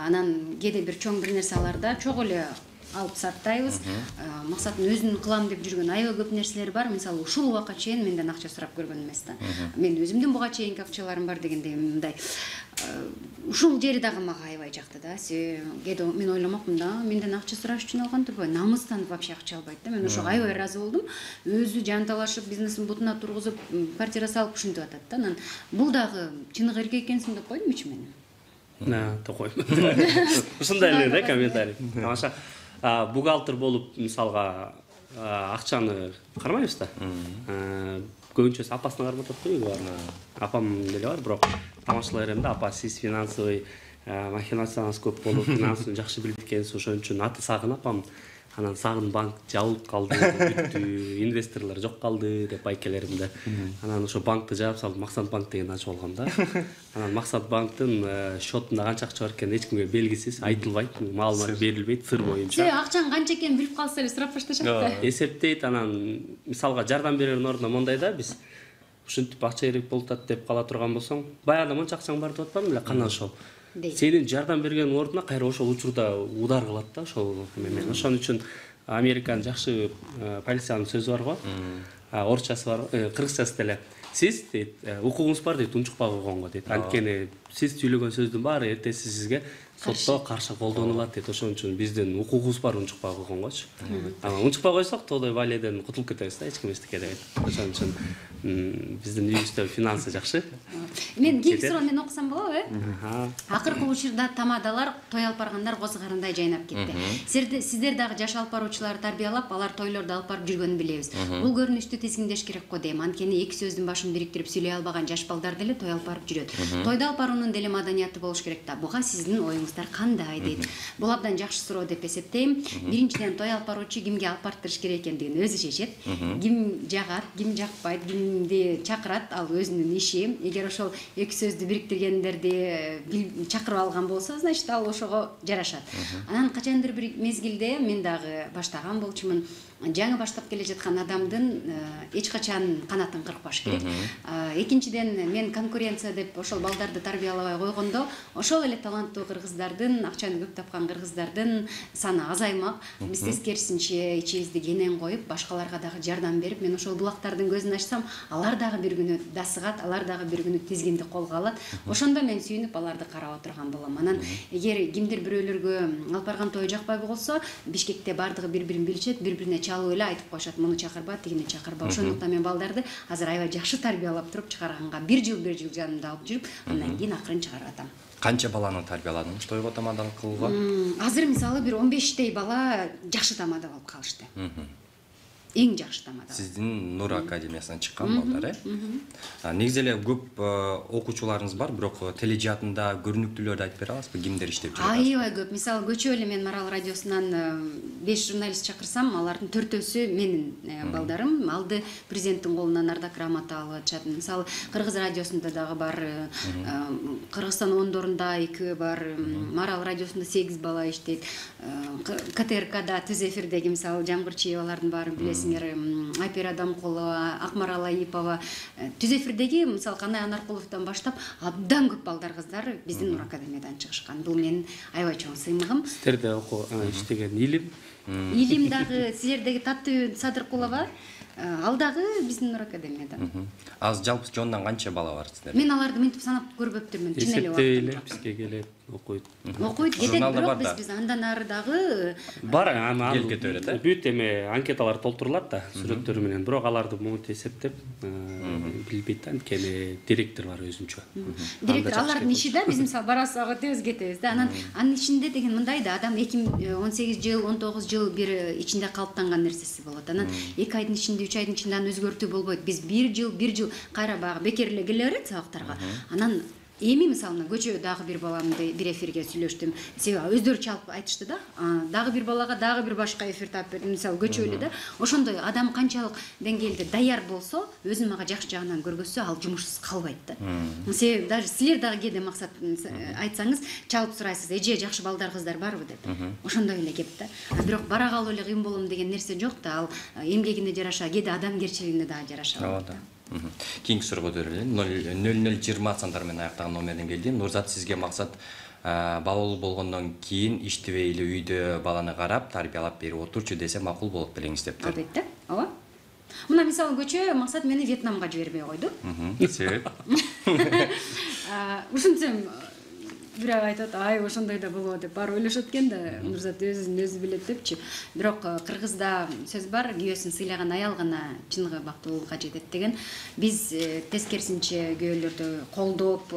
Анан кээде бир чоң бир нерселерде чогуу эле алып сарптайбыз. Максаттын өзүнүн кылам деп жүргөн аябай көп нерселери бар. Мисалы ушул убакка чейин менден акча сурап көргөн эмес да. Мен өзүмдүн буга чейинки акчаларым бар дегендей мындай. Ушул жери дагы мага аябай жакты да. Кээде мен ойломокмун да, менден акча сураш үчүн алган турбай, намыстан вообще акча албайт да. Мен ошого аябай ыраазы болдум. Өзү жанталашып, бизнесин бутуна тургузуп, квартира салып ушинтип атат да. Анан бул дагы чыныгы эркек экенсиң деп койдумчу мен. На, деп койм. Ушундай эле да комментарий. Тамаша. Бухгалтер болуп, мисалга, акчаны кармайбыз да. Көбүнчөсү апасына кармап атат го. Апам деле бар, бирок тамашалай берем да, апа сиз финансовый махинацияңыз көп болуп, финансын жакшы билип экенсиз, ошон үчүн аты сагын апам. Анан сагын банк жабылып калды, бүттү, инвесторлор жок калды деп айкелеримде. Анан ошо банкты жаап салып, Максат банк деген ачып алгам да. Анан Максат банктын счетунда канча акча бар экени эч кимге белгисиз, айтылбайт, маалымат берилбейт сыр боюнча. Сен акчаң канча экенин билип калса эле сурап башташат да. Эсептейт, анан мисалга жардам берердин ордуна мондай да, биз ушинтип акча керек болуп атат деп кала турган болсоң, баягы монча акчаң бар деп атпадым эле, кандан ошол. Сенин жардам берген ордуна кайра ошол учурда удар кылат да, ошол эме. Ошон үчүн Американын жакшы полициянын сөзү бар го. Орусчасы бар, кыргызчасы деле. Сиз дейт, укугуңуз бар дейт, унчукпай койгонго дейт. Анткени сиз сүйлөгөн сөздүн баары эртеси сизге сотто каршы колдонулат дейт. Ошон үчүн биздин укугубуз бар унчукпай койгонгочу. Ана унчукпай койсок тоодой валиден кутулуп кетебиз да, эч ким эчтеке дебейт. Ошон үчүн биздин үйүбүздө финансы жакшы. Мен кийинки суроону мен окусам болобу, э? Акыркы учурда тамадалар, той алып баргандар козгарындай жайнап кетти. Сиздер дагы жаш алып баруучуларды тарбиялап, алар тойлорду алып барып жүргөнүн билебиз. Бул көрүнүштү тизгиндеш керек го дейм. Анткени эки сөздүн башын бириктирип сүйлөй албаган жаш балдар деле той алып барып жүрөт. Тойду алып баруунун деле маданияты болуш керек да. Буга сиздин оюңуздар кандай дейт. Бул абдан жакшы суроо деп эсептейм. Биринчиден, той алып баруучу кимге алып барыптырыш керек экендигин өзү чечет. Ким жагат, ким жакпайт, кимди чакырат, ал өзүнүн иши. Эгер ошол эки сөздү бириктиргендерди чакырып алган болсо, значит ал ошого жарашат. Анан качандыр бир мезгилде мен дагы баштаган болчумун. Жаңы баштап келе жаткан адамдын эч качан канатын кыркпаш керек. Экинчиден, мен конкуренция деп ошол балдарды тарбиялабай койгондо, ошол эле таланттуу кыргыздардын, акчаны көп тапкан кыргыздардын саны азаймак. Биз тескерисинче ичибизди кенен коюп, башкаларга дагы жардам берип, мен ошол булактардын көзүн ачсам, алар дагы бир күнү дасыгат, алар дагы бир күнү тизгинди колго алат. Ошондо мен сүйүнүп аларды карап отурган болом. Анан эгер кимдир бирөөлөргө алып барган той жакпай болсо, Бишкекте бардыгы бири-бирин билишет, бири-бирине чалып эле айтып коюшат, муну чакырба, тигини чакырба. Ошондуктан мен балдарды азыр аябай жакшы тарбиялап туруп чыгарганга бир жыл бир жыл жанымда алып жүрүп, андан кийин акырын чыгарып атам. Канча баланы тарбияладыңыз тойго тамадал кылууга? Азыр мисалы бир он бештей бала жакшы тамада болуп калышты. Эң жакшы тамада. Сиздин Нур академиясынан чыккан балдар, э? Негизи эле көп окуучуларыңыз бар, бирок тележатында көрүнүктүүлөрдү айтып бере аласызбы? Кимдер иштеп жүрөт? Аябай көп. Мисалы көчө эле мен Марал радиосунан беш журналист чакырсам, алардын төртөөсү менин балдарым. Алды президенттин колунан ардак грамота алып атышат. Мисалы Кыргыз радиосунда дагы бар, Кыргызстан ондорунда эки бар, Марал радиосунда сегиз бала иштейт. КТРКда түз эфирдеги мисалы Жамгырчиевалардын баарын билесиз. Айпер Адамкулова, Акмарал Айыпова, түз эфирдеги мисалы Канай Анаркуловдон баштап абдан көп балдар кыздар биздин Нур академиядан чыгышкан. Бул менин аябай чоң сыймыгым. Сиздерде окуу иштеген илим. Илим дагы силердеги Таттуу Садыркулова, ал дагы биздин Нур академиядан. Аз жалпы жонунан канча бала бар сиздерде? Мен аларды мынтип санап көрбөптүрмүн. Чын эле Эсептейле бизге келет, окуйт. Окуйт, кетет, бирок биз биз андан ары дагы бар, аны келип кете берет, э? Бүт эме анкеталар толтурулат да, сүрөттөрү менен, бирок аларды монтип эсептеп билбейт да, анткени директор бар өзүнчө. Директор алардын иши да, биз мисалы барабыз өтөбүз кетебиз да. Анан анын ичинде деген мындай да, адам эки миң он сегиз жыл, он тогуз жыл бир ичинде калыптанган нерсеси болот. Анан эки айдын ичинде, үч айдын ичинде аны өзгөртүү болбойт. Биз бир жыл, бир жыл кайра багы бекер эле келе берет сабактарга. Анан эми мисалы көчө дагы бир баламды бир эфирге сүйлөштүм. Себеби өздөрү чалып айтышты да. Дагы бир балага дагы бир башка эфир таап бердим. Мисалы көчө эле да. Ошондой адам канчалык деңгээлде даяр болсо, өзүн мага жакшы жагынан көргөзсө, ал жумушсуз калбайт да. Себеби даже силер дагы кээде максат айтсаңыз, чалып сурайсыз, эже жакшы балдар кыздар барбы деп. Ошондой эле кеп да. Бирок бара калып эле кыйын болом деген нерсе жок да. Ал эмгегине жараша, кээде адамгерчилигине дагы жараша. Кийинки суроого өтөлөлү. нөл нөл жыйырма сандар менен аяктаган номерден келди. Нурзат, сизге максат балалуу болгондон кийин иштебей эле үйдө баланы карап, тарбиялап берип отурчу десе макул болот белеңиз дептир. Албетте, ооба. Мына мисалы көчө максат мени Вьетнамга жибербей койду. Себеп? Ушинтсем бирок айтат, ай ошондой да болобу деп бар ойлошот экен да, Нурзат өзүн өзү билет депчи. Бирок кыргызда сөз бар, күйөөсүн сыйлаган аял гана чыныгы бактылуулукка жетет деген. Биз тескерисинче күйөөлөрдү колдоп,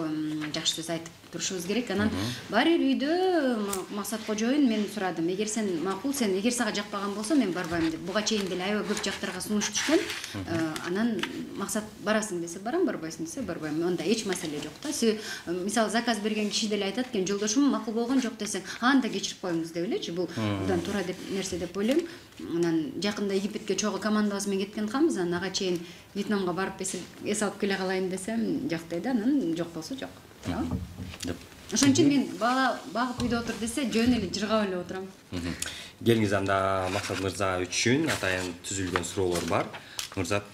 жакшы сөз айтып турушубуз керек. Анан бар эл үйдө Максат кожоюн мен сурадым. Эгер сен макул, сен эгер сага жакпаган болсо мен барбайм деп. Буга чейин деле аябай көп жактарга сунуш түшкөн. Анан Максат барасың десе барам, барбайсың десе барбайм. Онда эч маселе жок да. Мисалы заказ берген киши деле айтат экен, жолдошум макул болгон жок десең, анда кечирип коюңуз деп элечи. Бул абдан туура деп нерсе деп ойлойм. Анан жакында Египетке чогуу командабыз менен кеткен калбыз. Анан ага чейин Вьетнамга барып эс алып келе калайын десем, жок дейт. Анан жок болсо жок. Ошон үчүн мен бала багып үйдө отур десе, жөн эле жыргап эле отурам. Келиңиз, анда Максат мырза үчүн атайын түзүлгөн суроолор бар. Нурзат,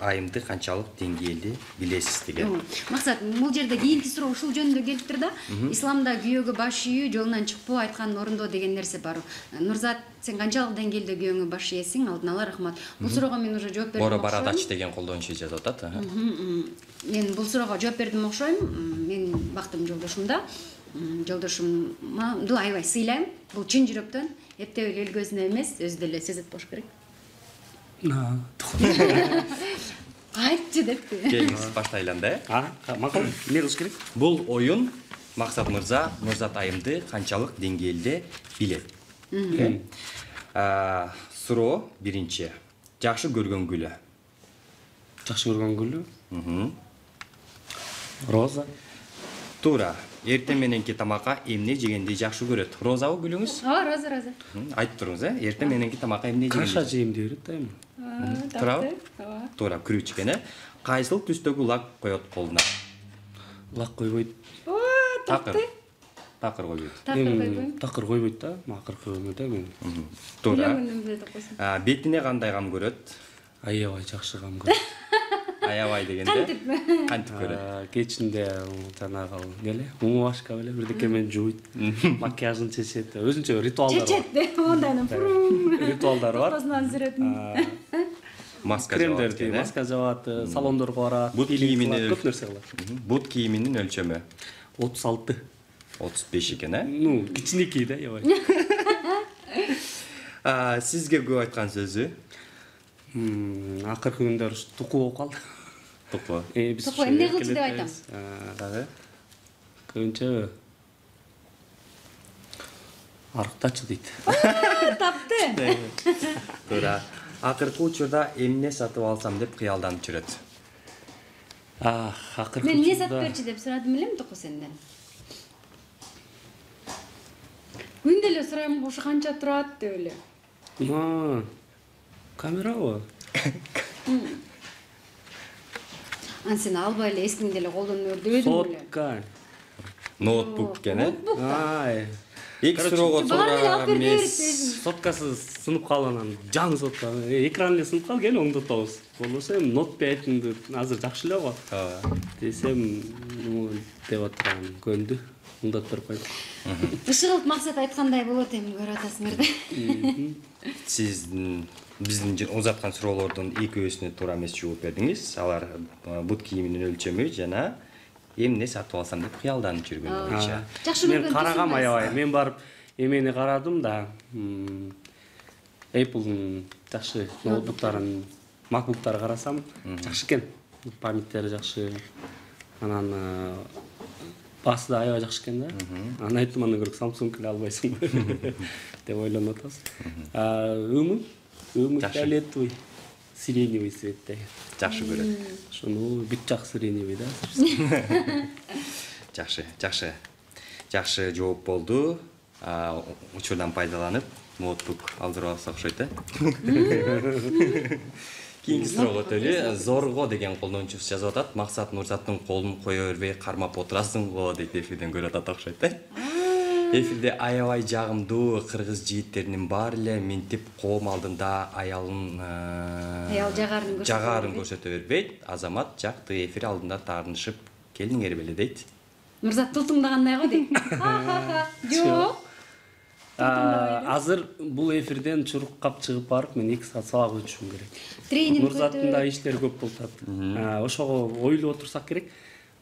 айымды канчалык деңгээлде билесиз деген. Максат, бул жерде кийинки суроо ушул жөнүндө келиптир да. Исламда күйөөгө баш ийүү жолунан чыкпоо, айтканын орундоо деген нерсе бар. Нурзат, сен канчалык деңгээлде күйөөңө баш ийесиң? Алдын ала рахмат. Бул суроого мен уже жооп бердим. Боро барадач деген колдонушу жазып атат. Мен бул суроого жооп бердим окшойм. Менин бактым жолдошумда. жолдошумду аябай сыйлайм. Бул чын жүрөктөн, эптеп эле эл көзүнө эмес, өзү деле сезет болуш керек. Айтчы депти. Келиңиз баштайлы анда. А, макул. Эмне кылыш керек? Бул оюн Максат мырза Нурзат айымды канчалык деңгээлде билет? А, суроо биринчи. Жакшы көргөн гүлү. Жакшы көргөн гүлү? Роза. Туура. Эртең мененки тамакка эмне жегенди жакшы көрөт? Розабы гүлүңүз? Ооба, роза, роза. Айтып туруңуз, э? Эртең мененки тамакка эмне жегенди? Каша жейм деп берет да эми. Туурабы? Туура, күрүч экен, э? Кайсыл түстөгү лак коет колуна? Лак койбойт. Оо, Такыр. Такыр койбойт. Такыр койбойм. Такыр койбойт да, акыркы өмүрдө мен. Туура. Үйлөнгөндөн билет окусун. А, бетине кандай кам көрөт? Аябай жакшы кам көрөт. Аябай дегенде? Кантип? Кантип көрөт? Кечинде жанагы эле, муңу башка эле бирдеке менен жууйт, макияжын чечет, өзүнчө ритуалдар бар. Чечет, ондайнын фурум. Ритуалдар бар. Токтосунан сүрөтүн. Маска Кремдер жабат дейм, экен, э? маска жабат, салондорго барат, Бут кийиминин көп нерсе кылат. Бут кийиминин өлчөмү отуз алты. отуз беш экен, э? Ну, кичинекей да, аябай. А, сизге көп айткан сөзү? Акыркы күндөр туку болуп калды. Туку. Э, биз Туку эмне кылчу деп айтам? Дагы. Көбүнчө арыктачы дейт. Тапты. Туура. Акыркы учурда эмне сатып алсам деп кыялданып жүрөт? А, акыркы Мен эмне сатып берчи деп сурадым элем Туку сенден. Күндө эле сурайм, ошо канча турат деп эле. А, камерабы? Ан сен албай эле эскиңди эле колдонуп өр дебедиң беле. Сотка. Ноутбук экен, э? Ай. Эки суроого Баары эле алып туура берип эмес. берет. Соткасы сынып калганан жаңы сотка. Экран эле сынып калды, кел оңдотобуз. Болбосо эми нот айтыңды азыр жакшы эле го. Ооба. Десем, деп аткан көндү. Оңдоп берип койду. Ишыгылып максат айткандай болот эми көрүп атасыңар да. Сиздин биздин узаткан суроолордун экөөсүнө туура эмес жооп бердиңиз. Алар бут кийиминин өлчөмү жана эмне сатып алсам деп кыялданып жүргөн боюнча. Жакшы Мен көргөн карагам түсүн аябай. Мен барып эмени карадым да. Apple'дун жакшы ноутбуктарын, MacBook'тары карасам, жакшы экен. Памяттери жакшы. Анан басы да аябай жакшы экен да. Анан айттым, андан көрө Samsung эле албайсыңбы деп ойлонуп атабыз. Өңү, өңү фиолетовый, сиреневый цветте. Жакшы көрөт. Ошону бүт жак сиреневый да. Жакшы, жакшы. Жакшы жооп болду. А, учурдан пайдаланып ноутбук алдырып алсак окшойт, э? Кийинки суроого өтөлү. Зорго деген колдонуучубуз жазып атат. Максат Нурзаттын колун кое бербей кармап отурасыңбы дейт, эфирден көрүп атат окшойт, э? Эфирде аябай жагымдуу кыргыз жигиттеринин баары эле минтип коом алдында аялын Аял жагарын көрсөтө жагарын көрсөтө бербейт. Азамат жакты эфир алдында таарынышып келиңер беле дейт. Нурзат тултуңдагандай го дейт. Жок. Азыр бул эфирден чуруккап чыгып барып, мен эки саат сабак өтүшүм керек. Тренинг Нурзаттын да иштери көп болуп атат. Ошого ойлоп отурсак керек.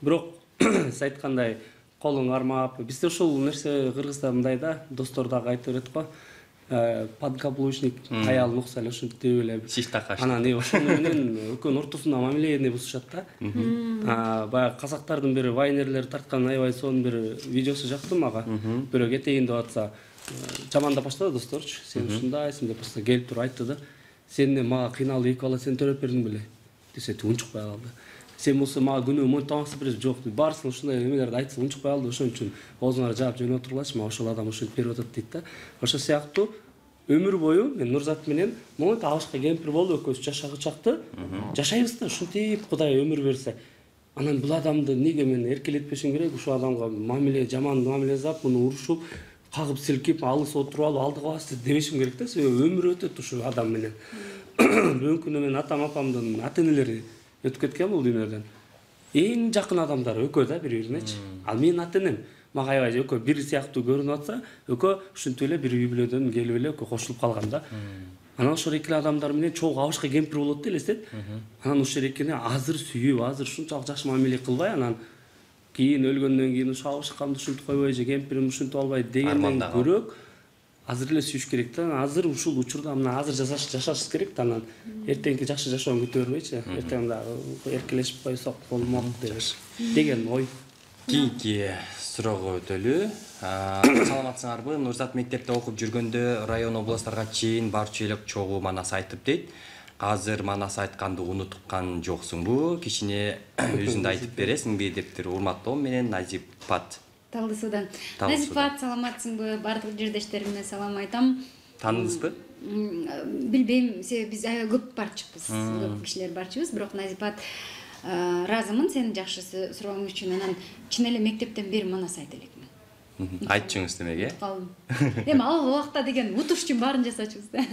Бирок сиз айткандай колуң кармап, бизде ушул нерсе Кыргызда мындай да, достор дагы айтып берет го. Подкаблучник аялын укса эле ушинтип эле. Шиш такаш. Анан э ошону менен экөөнүн ортосунда мамилени бузушат да. Баягы казактардын бири вайнерлер тарткан аябай сонун бир видеосу жакты мага. Бирөө кетейин деп атса, жамандап баштады досторчу. Сен ушундайсың деп просто келип туруп айтты да. Сен эмне мага кыйналып эки бала сен төрөп бердиң беле? Десе унчукпай калды. Сен болсо мага күнөө монтип тамак бересиң, жок дейт. Баарысың ушундай эмелерди айтса унчукпай калды. Ошон үчүн оозуңар жаап жөнөп отургулачы, мага ошол адам ушинтип берип атат дейт да. Ошол сыяктуу өмүр бою мен Нурзат менен монтип алышка кемпир болуп экөөбүз жашагы чакты жашайбыз да, ушинтип Кудай өмүр берсе. Анан бул адамды неге мен эркелетпешим керек? Ушул адамга мамиле, жаман мамиле жасап, муну урушуп, кагып силкип, алыс отуруп алып, алдыга бас дебешим керек да. Себеби өмүр өтөт ушул адам менен. Бүгүнкү күнү мен атам апамдын ата-энелери өтүп кеткен бул дүйнөдөн. Эң жакын адамдар экөө да бири-биринечи. Ал менин ата-энем мага аябай экөө бир сыяктуу көрүнүп атса, экөө ушинтип эле бир үй бүлөдөн келип эле экөө кошулуп калган да. Анан ошол эки адамдар менен чогуу абышка кемпир болот да элестет. Анан ошол экини азыр сүйүп, азыр ушунчалык жакшы мамиле кылбай, анан кийин өлгөндөн кийин шабышкамды ушинтип койбой же кемпирим ушинтип албайт дегенден көрөк азыр эле сүйүш керек да. Азыр ушул учурда мына азыр жашаш жашаш керек да, анан эртеңки жакшы жашоон күтө бербейчи. Эртең дагы эркелешип койсок болмок деген ой. Кийинки суроого өтөлү. Саламатсыңарбы? Нурзат мектепте окуп жүргөндө район областтарга чейин барчу эле чогуу манас айтып дейт. Азыр манас айтканды унуткан жоксуңбу? Кичине өзүңдү айтып бересиңби дептир. Урматтоо менен Назипат. Талды судан. Назипат, саламатсыңбы? Бардык жердештериме салам айтам. Таныдыңызбы? Билбейм, себеби биз аябай көп барчыбыз, көп кишилер барчыбыз, бирок Назипат ыраазымын сенин жакшы сурооң үчүн. Анан чын эле мектептен бери манас айта элекмин. Айтчыңыз демеге? Калдым. Эми ал убакта деген утуш үчүн баарын жасачубуз да.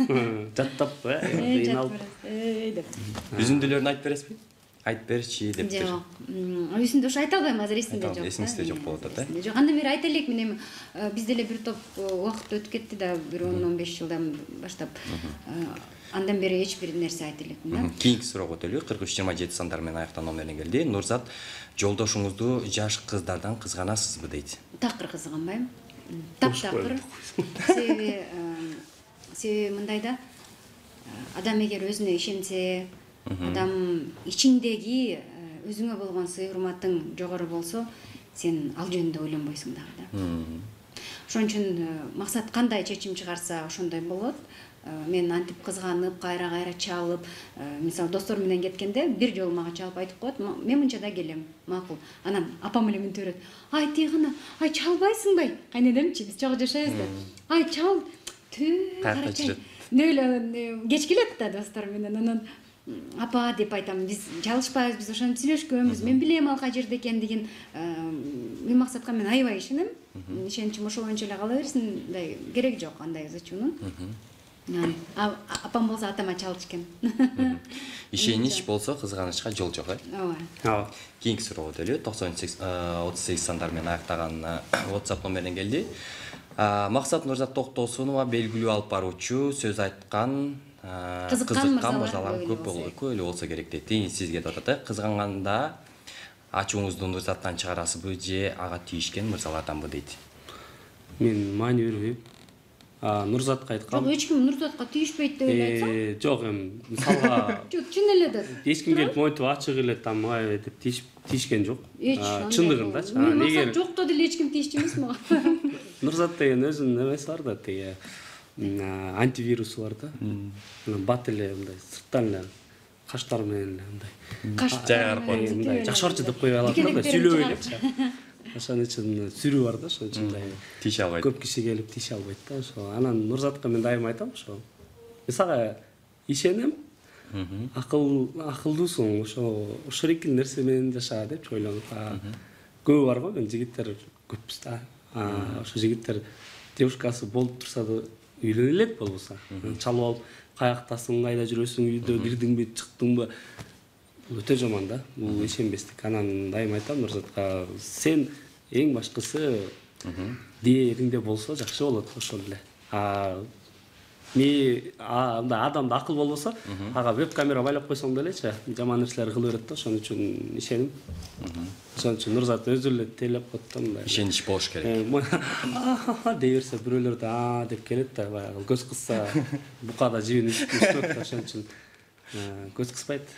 Жаттап, кыйналып. деп. Үзүндүлөрүн айтып бересизби? Айтып берчи дептир. Жок. Үсүндө ош айта албайм, азыр эсимде жок. Эсиңизде жок болуп атат, э? Жок, андан бери айта элекмин, эми бизде эле бир топ убакыт өтүп кетти да, бир он он беш жылдан баштап. Андан бери эч бир нерсе айта элекмин да. Кийинки суроого өтөлү. кырк үч жыйырма жети сандар менен аяктан номерине келди. Нурзат, жолдошуңузду жаш кыздардан кызганасызбы дейт. Такыр кызганбайм. Таптакыр. Себеби себеби мындай да, адам эгер өзүнө ишенсе, адам ичиңдеги өзүңө болгон сый урматың жогору болсо, сен ал жөнүндө ойлонбойсуң дагы да. Ошон үчүн максат кандай чечим чыгарса ошондой болот. Мен антип кызганып, кайра-кайра чалып, мисалы достор менен кеткенде бир жолу мага чалып айтып коет, мен мынча да келем, макул. Анан апам эле мынтип берет. Ай тыйгына, ай чалбайсыңбы? Кайненемчи, биз чогуу жашайбыз да. Ай чал, түү, карачай. Нөлө кеч келет да достор менен, анан апа деп айтам, биз чалышпайбыз, биз ошону сүйлөшкөнбүз, мен билем ал кай жерде экендигин. Мен максатка мен аябай ишенем. Ишеничим ошо боюнча эле кала берсин, мындай керек жок андай зачунун. Апам болсо атама чалчу экен. Ишенич болсо кызганычка жол жок, э? Ооба. Кийинки суроо өтөлү. токсон отуз сегиз сандар менен аяктаган WhatsApp номеринен келди. Максат Нурзат Токтосунова белгилүү алып баруучу, сөз айткан, кызыккан мырзалар көп эле болсо керек дейт. Сизге деп атат, э? Кызганганда ачууңузду Нурзаттан чыгарасызбы же ага тийишкен мырзаларданбы дейт. Мен маани бербейм. Нурзатка айткам. Жок, эч ким Нурзатка тийишпейт деп эле айтсам. Жок, эми мисалга Жок, чын эле да. Эч ким келип монтип ачык эле там ай деп тийишкен жок. Чындыгындачы. Неге жокто деле эч ким тийишчү эмес мага. Нурзат деген өзүнүн эмеси бар да, тиги антивирусу бар да. Бат эле мындай сырттан эле каштар менен мындай. Каш жайгарып коюп мындай жакшырчы деп кое алат да, сүйлөп эле. Ошон үчүн сүрүү бар да, ошон үчүн мындай тийише албайт. Көп киши келип тийише албайт да. Ошо анан Нурзатка мен дайым айтам, ошо. Сага ишенем. Акыл акылдуусуң, ошо ошол нерсе менен жаша деп ойлонуп. Көп бар го, мен жигиттер көппүз да. Ошо жигиттер девушкасы болуп турса да үйлөнө элек болбосо. Чалып алып, каяктасың, кайда жүрөсүң, үйдө кирдиңби, чыктыңбы? Бул өтө жаман да. Бул ишенбестик. Анан дайым айтам Нурзатка, сен эң башкысы дээриңде болсо жакшы болот ошол эле. А ми андай адамда акыл болбосо, ага веб-камера байлап койсоң делечи, жаман нерселер кыла берет да, ошон үчүн ишеним. Ошон үчүн Нурзат өзү эле тейлеп коет да мындай. Ишенич болуш керек. Дей берсе бирөөлөр да а деп келет да, баягы көз кысса букада жибин үстүп, ошон үчүн көз кыспайт.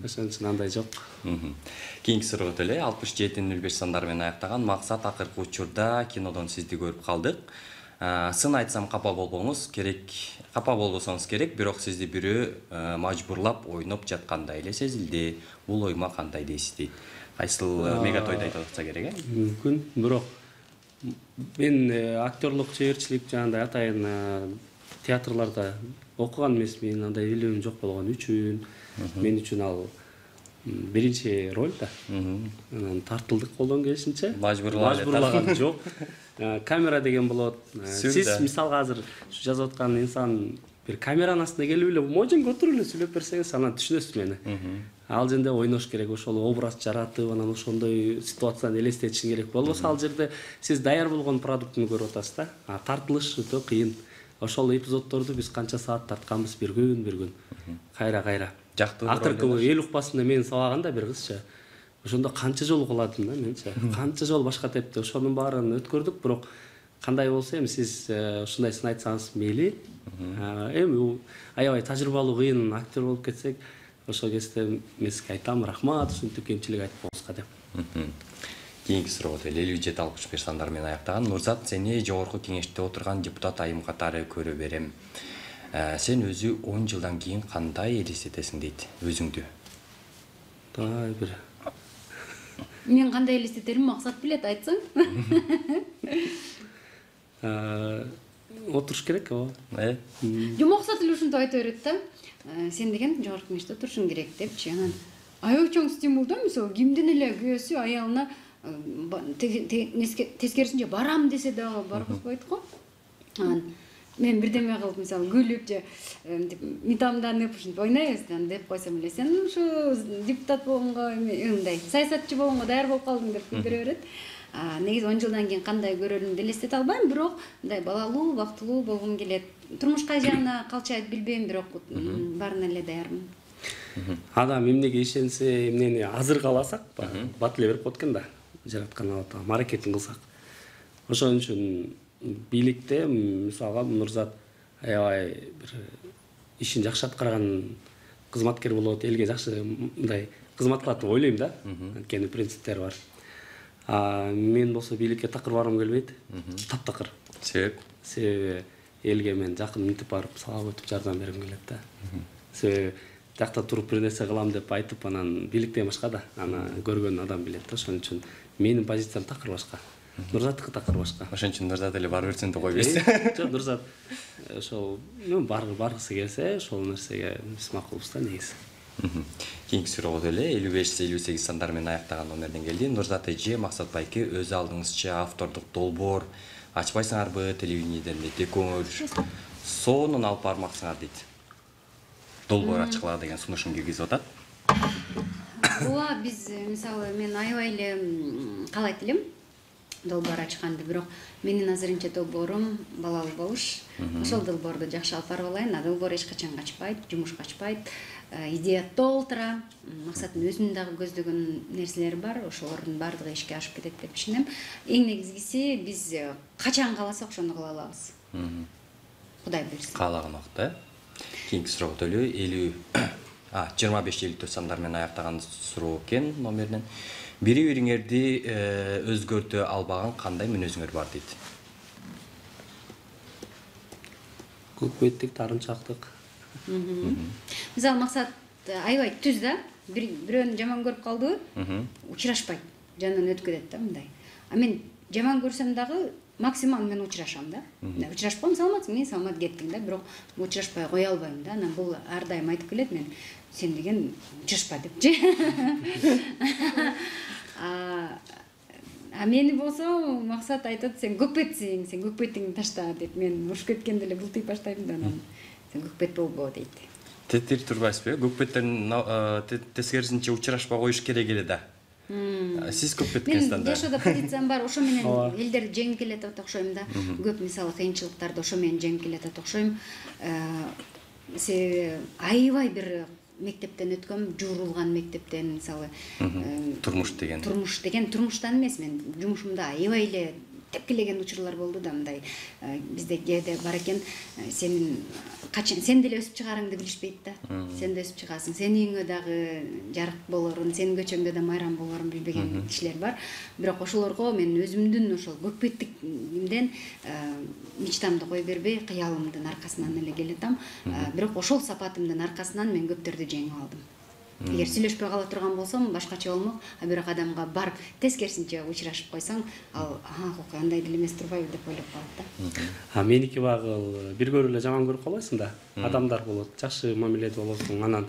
Ошон үчүн андай жок. Кийинки суроо өтөлү. алтымыш жети нөл беш сандар менен аяктаган Максат, акыркы учурда кинодон сизди көрүп калдык. Сын айтсам капа болбоңуз керек, капа болбосоңуз керек, бирок сизди бирөө мажбурлап ойноп жаткандай эле сезилди. Бул ойма кандай дейсиз дейт. Кайсыл мегатойдо айтып атса керек, э? Мүмкүн, бирок мен актерлук чеберчилик жагында атайын театрларда окуган эмесмин, андай билимим жок болгон үчүн мен үчүн ал биринчи роль да. Анан тартылдык колдон келишинче. Мажбурлаган жок. Камера деген болот. Сиз мисалга азыр жазып аткан инсан бир камеранын астына келип эле можен көтөрүп эле сүйлөп берсеңиз, анан түшүнөсүз мени. Ал жерде ойнош керек, ошол образ жаратып, анан ошондой ситуацияны элестетишиң керек. Болбосо ал жерде сиз даяр болгон продуктуну көрүп атасыз да. А тартылыш өтө кыйын. Ошол эпизоддорду биз канча саат тартканбыз, бир күн, бир күн. Кайра-кайра. Акыркы эл укпасында мени сабаган да бир кызча. ошондо канча жолу кыладым да менчи. Канча жолу башка тепти. Ошонун баарын өткөрдүк, бирок кандай болсо эми сиз ушундайсын айтсаңыз мейли. Эми аябай тажрыйбалуу кыйын актер болуп кетсек, ошол кезде мен сизге айтам, рахмат, ушинтип кемчилик айтып болуңузга деп. Кийинки суроого элүү жети алкыш беш сандар менен аяктаган. Нурзат, сени жогорку кеңеште отурган депутат айым катары көрө берем. Сен өзү он жылдан кийин кандай элестетесиң дейт өзүңдү? Дай бир. Мен кандай элестетерим Максат билет, айтсаң. Отуруш керек ооба. Э? Жок, Максат эле ушинтип айта берет да. Сен деген жогорку кеңеште отурушуң керек депчи. Анан аябай чоң стимул да, мисалы кимдин эле күйөөсү аялына тескерисинче барам десе дагы баргызбайт го. Анан мен бирдеме кылып, мисалы күлүп же митамданып ушинтип ойнойбуз деп койсом эле, сен ушу депутат болгонго мындай саясатчы болгонго даяр болуп калдың деп күлдүрө берет. Негизи он жылдан кийин кандай көрөрүмдү элестете албайм, бирок мындай балалуу, бактылуу болгум келет. Турмуш кай жагына калчайт билбейм, бирок баарына эле даярмын. Адам эмнеге ишенсе, эмнени азыр кааласак, бат эле берип коет экен да. Жараткан Алла маракетин кылсак. Ошон үчүн бийликте мисалга Нурзат аябай бир ишин жакшы аткарган кызматкер болот, элге жакшы мындай кызмат кылат деп ойлойм да. Анткени принциптери бар. А мен болсо бийликке такыр баргым келбейт. Таптакыр. Себеп? Себеби элге мен жакын мынтип барып салап өтүп жардам бергим келет да. Себеби жакта туруп бир нерсе кылам деп айтып, анан бийликтен башка да, аны көргөн адам билет да. Ошон үчүн менин позициям такыр башка. Нурзаттыкы такыр башка. Ошон үчүн Нурзат эле барып берсин деп койбойсуз. Жок, Нурзат ошол мен баргысы келсе, ошол нерсеге биз макулбуз да негизи. Кийинки суроого эле элүү беш элүү сегиз сандар менен аяктаган номерден келди. Нурзат эже, Максат байке, өз алдыңызча автордук долбоор ачпайсыңарбы телевидениеден дейт, экөөңөр сонун алып бармаксыңар дейт. Долбоор ачкыла деген сунушун киргизип атат. Ооба, биз мисалы мен аябай эле каалайт элем долбоор ачканды, бирок менин азырынча долбоорум балалуу болуш. Ошол долбоорду жакшы алып барып алайын. А долбоор эч качан качпайт, жумуш качпайт. Идея толтура, Максаттын өзүнүн дагы көздөгөн нерселери бар, ошолордун баардыгы ишке ашып кетет деп ишенем. Эң негизгиси биз качан кааласак ошону кыла алабыз. Кудай буйрса. Каалаган убакытта. Кийинки суроого элүү а жыйырма беш элүү төрт сандар менен аяктаган суроо экен номеринен. Бири бириңерди өзгөртө албаган кандай мүнөзүңөр бар дейт. Көкбеттик, тарынчактык. Мисалы Максат аябай түз да, бирөөнү жаман көрүп калды, учурашпайт, жанынан өтүп кетет да мындай. А мен жаман көрсөм дагы максимум мен учурашам да. Учурашпам, саламатсың, мен саламат кеттиң да, бирок учурашпай кое албайм да. Анан бул ар дайым айтып келет, мен сен деген учурашпа депчи. А мени болсо Максат айтат, сен көкпетсиң, сен көкпетиңди ташта деп, мен урушуп кеткенде эле бултыйп баштайм да, анан сен көкпет болбо дейт. Тетир турбайсызбы? Көкпеттерин тескерисинче учурашпай коюш керек эле да. Сиз көкпеткенсиз да. Мен жашоодо позициям бар, ошо менен элдерди жеңип келет деп окшойм да. Көп мисалы кыйынчылыктарды ошо менен жеңип келет деп окшойм. Себеби аябай бир мектептен өткөм, жуурулган мектептен, мисалы турмуш деген. Турмуш деген турмуштан эмес, мен жумушумда аябай эле тепкилеген учурлар болду да, мындай бизде кээде бар экен, сенин качан сен деле өсүп чыгарыңды билишпейт да. Сен да өсүп чыгасың, сенин үйүңө дагы жарык болорун, сенин көчөңдө да майрам болорун билбеген кишилер бар. Бирок ошолорго мен өзүмдүн ошол көкпеттикимден мечтамды кой бербей, кыялымдын аркасынан эле келатам. Бирок ошол сапатымдын аркасынан мен көптөрдү жеңип алдым. Эгер сүйлөшпөй кала турган болсом, башкача болмок, а бирок адамга барып тескерисинче учурашып койсоң, ал ага, андай деле эмес турбайбы деп ойлоп калат да. А меники багыл бир көрүп эле жаман көрүп калбайсың да. Адамдар болот, жакшы мамиледе болосуң. Анан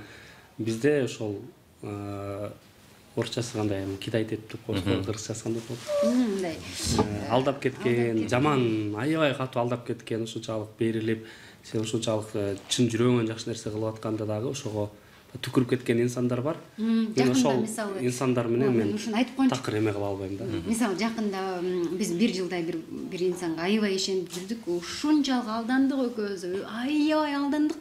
бизде ошол орчасы кандай, Китай деп коюшкан, кыргызчасы кандай болот? Мындай. Алдап кеткен, жаман, аябай катуу алдап кеткен, ушунчалык берилип, сен ушунчалык чын жүрөгүңөн жакшы нерсе кылып атканда дагы ошого түкүрүп кеткен инсандар бар. Мен ошол инсандар менен мен такыр эме кыла албайм да. Мисалы жакында биз бир жылдай бир бир инсанга аябай ишенип жүрдүк, ушунчалык алдандык экөөбүз, аябай алдандык.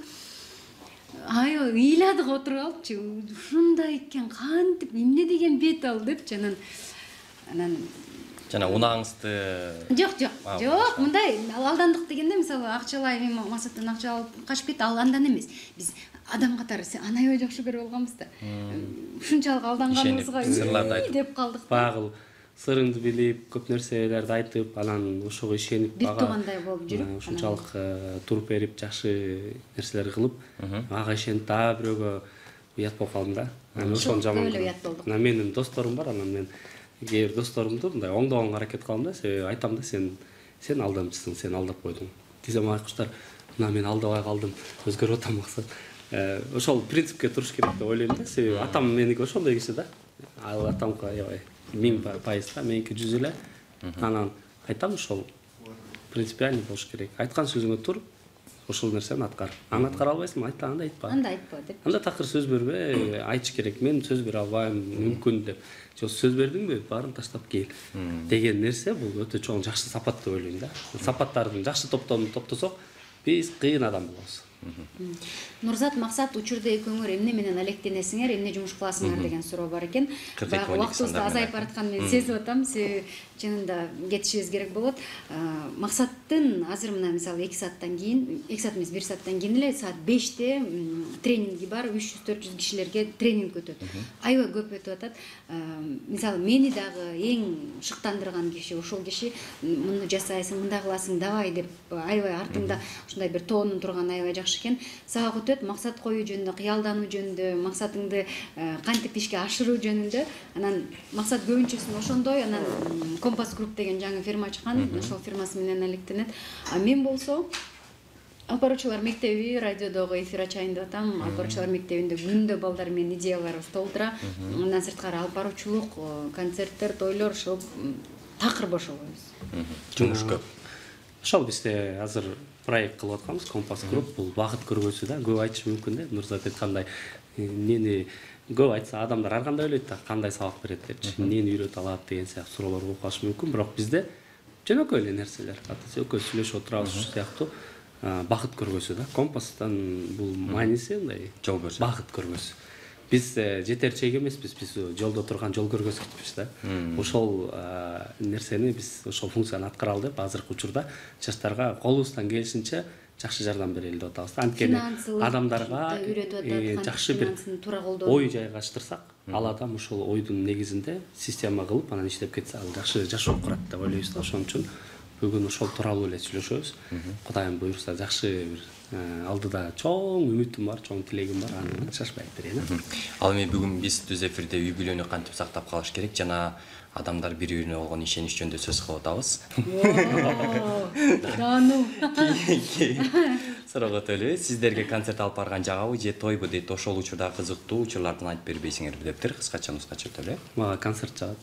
аябай ыйладык отуруп алыпчы, ушундай экен, кантип эмне деген бет ал депчи. Анан анан жана унагыңызды жок жок жок мындай алдандык дегенде мисалы акчалай эми Максаттан акча алып качып кетти, ал андан эмес. Биз адам катары аны аябай жакшы көрүп алганбыз да. Ушунчалык алданганыбызга сырларды айтып деп калдык. Багыл сырыңды билип, көп нерселерди айтып, анан ошого ишенип бир туугандай болуп жүрүп, ушунчалык туруп берип, жакшы нерселер кылып, ага ишенип дагы бирөөгө уят болуп калдым да. Анан ошону жаман. Анан менин досторум бар, анан мен кээ бир досторумду мындай оңдогонго аракет кылам да, себеби айтам да, сен сен алдамчысың, сен алдап койдуң. Десем айкуштар, мына мен алдабай калдым, өзгөрүп атам Максат. Ошол принципке туруш керек деп ойлойм да, себеби атам меники ошондой киши да. Ал атамка аябай миң пайыз да, меники жүз эле. Анан айтам ошол принципиальный болуш керек. Айткан сөзүңө тур, ошол нерсени аткар. Аны аткара албайсың, айта, анда айтпа. Анда айтпа деп. Анда такыр сөз бербе, айтыш керек. Мен сөз бере албайм, мүмкүн деп. Жок, сөз бердиңби, баарын таштап кел деген нерсе бул өтө чоң жакшы сапат деп ойлойм да. Сапаттардын жакшы топтомун топтосок, биз кыйын адам болобуз. Нурзат, Максат, учурда экөөңөр эмне менен алектенесиңер, эмне жумуш кыласыңар деген суроо бар экен. Баягы убактыбыз азайып баратканын мен сезип атам. Себеби чынында кетишибиз керек болот. Максаттын азыр мына мисалы эки сааттан кийин, эки саат эмес бир сааттан кийин эле саат беште тренинги бар, үч жүз төрт жүз кишилерге тренинг өтөт. Аябай көп өтүп атат. Мисалы мени дагы эң шыктандырган киши ошол киши, муну жасайсың, мындай кыласың, давай деп аябай артыңда ушундай бир тоонун турган аябай жакшы экен. Сага өтөт, максат коюу жөнүндө, кыялдануу жөнүндө, максатыңды кантип ишке ашыруу жөнүндө. Анан максат көбүнчөсүн ошондой, анан Компас Групп деген жаңы фирма ачкан, ошол фирмасы менен алектенет. А мен болсо Алып баруучулар мектеби радиодогу эфир ачайын деп атам. Алып баруучулар мектебинде күндө балдар менен идеяларыбыз толтура. Андан сырткары алып баруучулук, концерттер, тойлор, ошол такыр бошобойбуз. Жумуш көп. Ошол бизде азыр проект кылып атканбыз, Компас Групп. Бул багыт көргөзүү да, көп айтыш мүмкүн да. Нурзат айткандай, эмнени көп айтса адамдар ар кандай ойлойт да, кандай сабак берет депчи, эмнени үйрөтө алат деген сыяктуу суроолор болуп калышы мүмкүн. Бирок бизде жөнөкөй эле нерселер. Атасы экөөбүз сүйлөшүп отурабыз ушул сыяктуу багыт көргөзүү да. Компастан бул мааниси мындай жол көрсөтүү. Багыт көргөзүү. Биз жетерчек эмеспиз, биз жолдо турган жол көргөзгүчпүз да. Ошол нерсени биз ошол функцияны аткаралы деп азыркы учурда жаштарга колубуздан келишинче жакшы жардам берели деп атабыз. Анткени адамдарга жакшы бир ой жайгаштырсак, ал адам ошол ойдун негизинде система кылып анан иштеп кетсе, ал жакшы жашоо курат деп ойлойбуз да. Ошон үчүн бүгүн ошол тууралуу эле сүйлөшөбүз. Кудайым буйруса жакшы бир алдыда чоң үмүтүм бар, чоң тилегим бар, аны шашпай берейин. Ал эми бүгүн биз түз эфирде үй бүлөнү кантип сактап калыш керек жана адамдар бири-бирине болгон ишенич жөнүндө сөз кылып атабыз. Таануу. Суроого төлөбөйт. Сиздерге концерт алып барган жагабы же тойбу дейт, ошол учурда кызыктуу учурлардан айтып бербейсиңерби дептир. Кыскача нускача төлөп. Мага концерт жагат.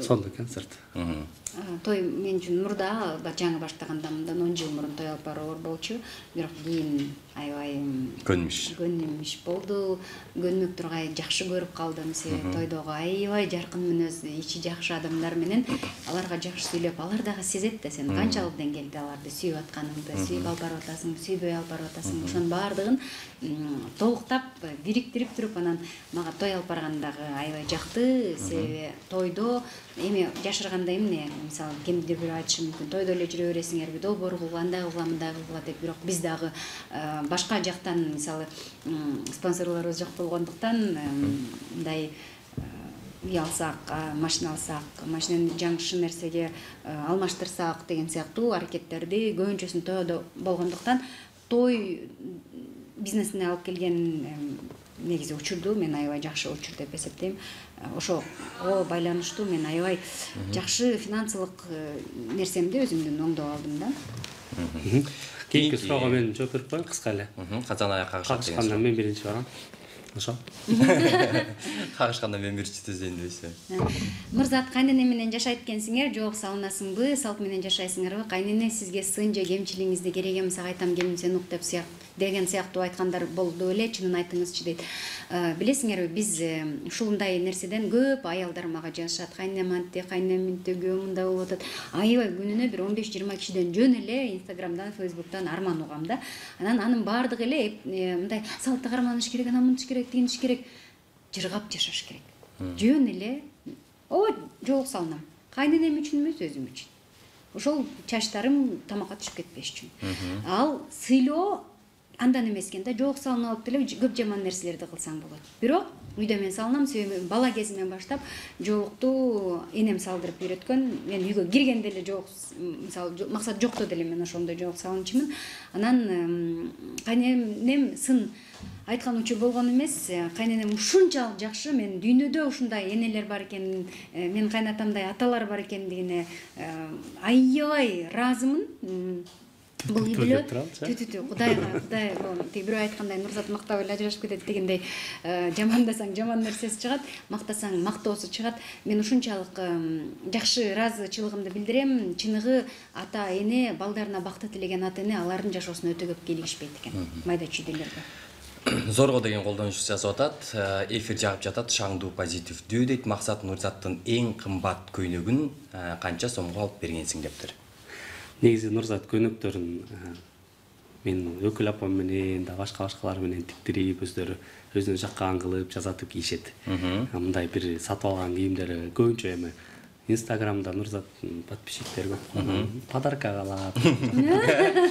Сонда концерт. Той мен үчүн мурда жаңы баштаганда мындан он жыл мурун той алып баруу оор болчу. Бирок кийин аябай көнмүш. Көнмүш болду. Көнмөк тургай жакшы көрүп калдым. Себеби тойдогу аябай жаркын мүнөздүү, ичи жакшы адамдар менен аларга жакшы сүйлөп, алар дагы сезет да сен канчалык деңгээлде аларды сүйүп атканыңды, сүйүп алып барып атасың, сүйбөй алып барып атасың. Ошонун баардыгын толуктап, бириктирип туруп анан мага той алып баргандагы аябай жакты. Себеби тойдо эми жашырганда эмне, мисалы кимдир бир айтышы мүмкүн, тойдо эле жүрө бересиңерби, долбоор кылгыла, андай кылгыла, мындай кылгыла деп. Бирок биз дагы башка жактан мисалы спонсорлорубуз жок болгондуктан мындай үй алсак, машина алсак, машинаны жаңы нерсеге алмаштырсак деген сыяктуу аракеттерди көбүнчөсүн тойдо болгондуктан той бизнесине алып келген негизи учурду мен аябай жакшы учур деп эсептейм. Ошо о байланыштуу мен аябай жакшы финансылык нерсемди өзүмдүн оңдоп алдым да. Кийинки суроого мен жооп берип коеюн кыска эле. Качан аякка кагышкандан мен биринчи барам. ошо кагышканда мен бир түзөйүн дебейсиз. Нурзат, кайнене менен жашайт экенсиңер, жок салынасыңбы, салт менен жашайсыңарбы? Кайнене сизге сын же кемчилигиңизди керек эмес, айтам келин сен ук деп сыяк деген сыяктуу айткандар болду эле, чынын айтыңызчы дейт. Билесиңерби, биз ушундай нерседен көп аялдар мага жазышат. Кайнем антти, кайнем мынтиги, мындай болуп атат. Аябай күнүнө бир он беш жыйырма кишиден жөн эле Инстаграмдан, Фейсбуктан арман угам да. Анан анын баардыгы эле мындай салтты карманыш керек, анан мынтыш керек, тигиниш керек, жыргап жашаш керек. Жөн эле, о, жолук салынам. Кайненем үчүн эмес, өзүм үчүн. Ошол чачтарым тамакка түшүп кетпеш үчүн. Ал сыйлоо андан эмес экен да, жолук салынып алып деле көп жаман нерселерди кылсаң болот. Бирок үйдө мен салынам, себеби бала кезимден баштап жолукту энем салдырып үйрөткөн. Мен үйгө киргенде эле жолук, мисалы, максат жокто деле мен ошондой жолук салынчумун. Анан кайненем сын айткан учур болгон эмес, кайненем ушунчалык жакшы, мен дүйнөдө ушундай энелер бар экен, мен кайнатамдай аталар бар экендигине аябай ыраазымын. Бул үй бүлө түтүтү Кудайга, Кудай тиги бирөө айткандай Нурзат мактап эле ажырашып кетет дегендей, жамандасаң жаман нерсеси чыгат, мактасаң мактоосу чыгат. Мен ушунчалык жакшы ыраазычылыгымды билдирем. Чыныгы ата эне балдарына бакыт тилеген ата эне алардын жашоосуна өтө көп келишпейт экен. Майда чүйдөлөргө. Зорго деген колдонуучу жазып атат, эфир жагып жатат, шаңдуу позитивдүү дейт. Максат Нурзаттын эң кымбат көйнөгүн канча сомго алып бергенсиң дептир. Негизи Нурзат көйнөктөрүн мен өкүл апам менен да башка башкалар менен тиктирип, өздөрү өзүнө жаккан кылып жасатып кийишет. Мындай бир сатып алган кийимдери көбүнчө эми Инстаграмда Нурзат подписчиктер көп. Подарка кылат,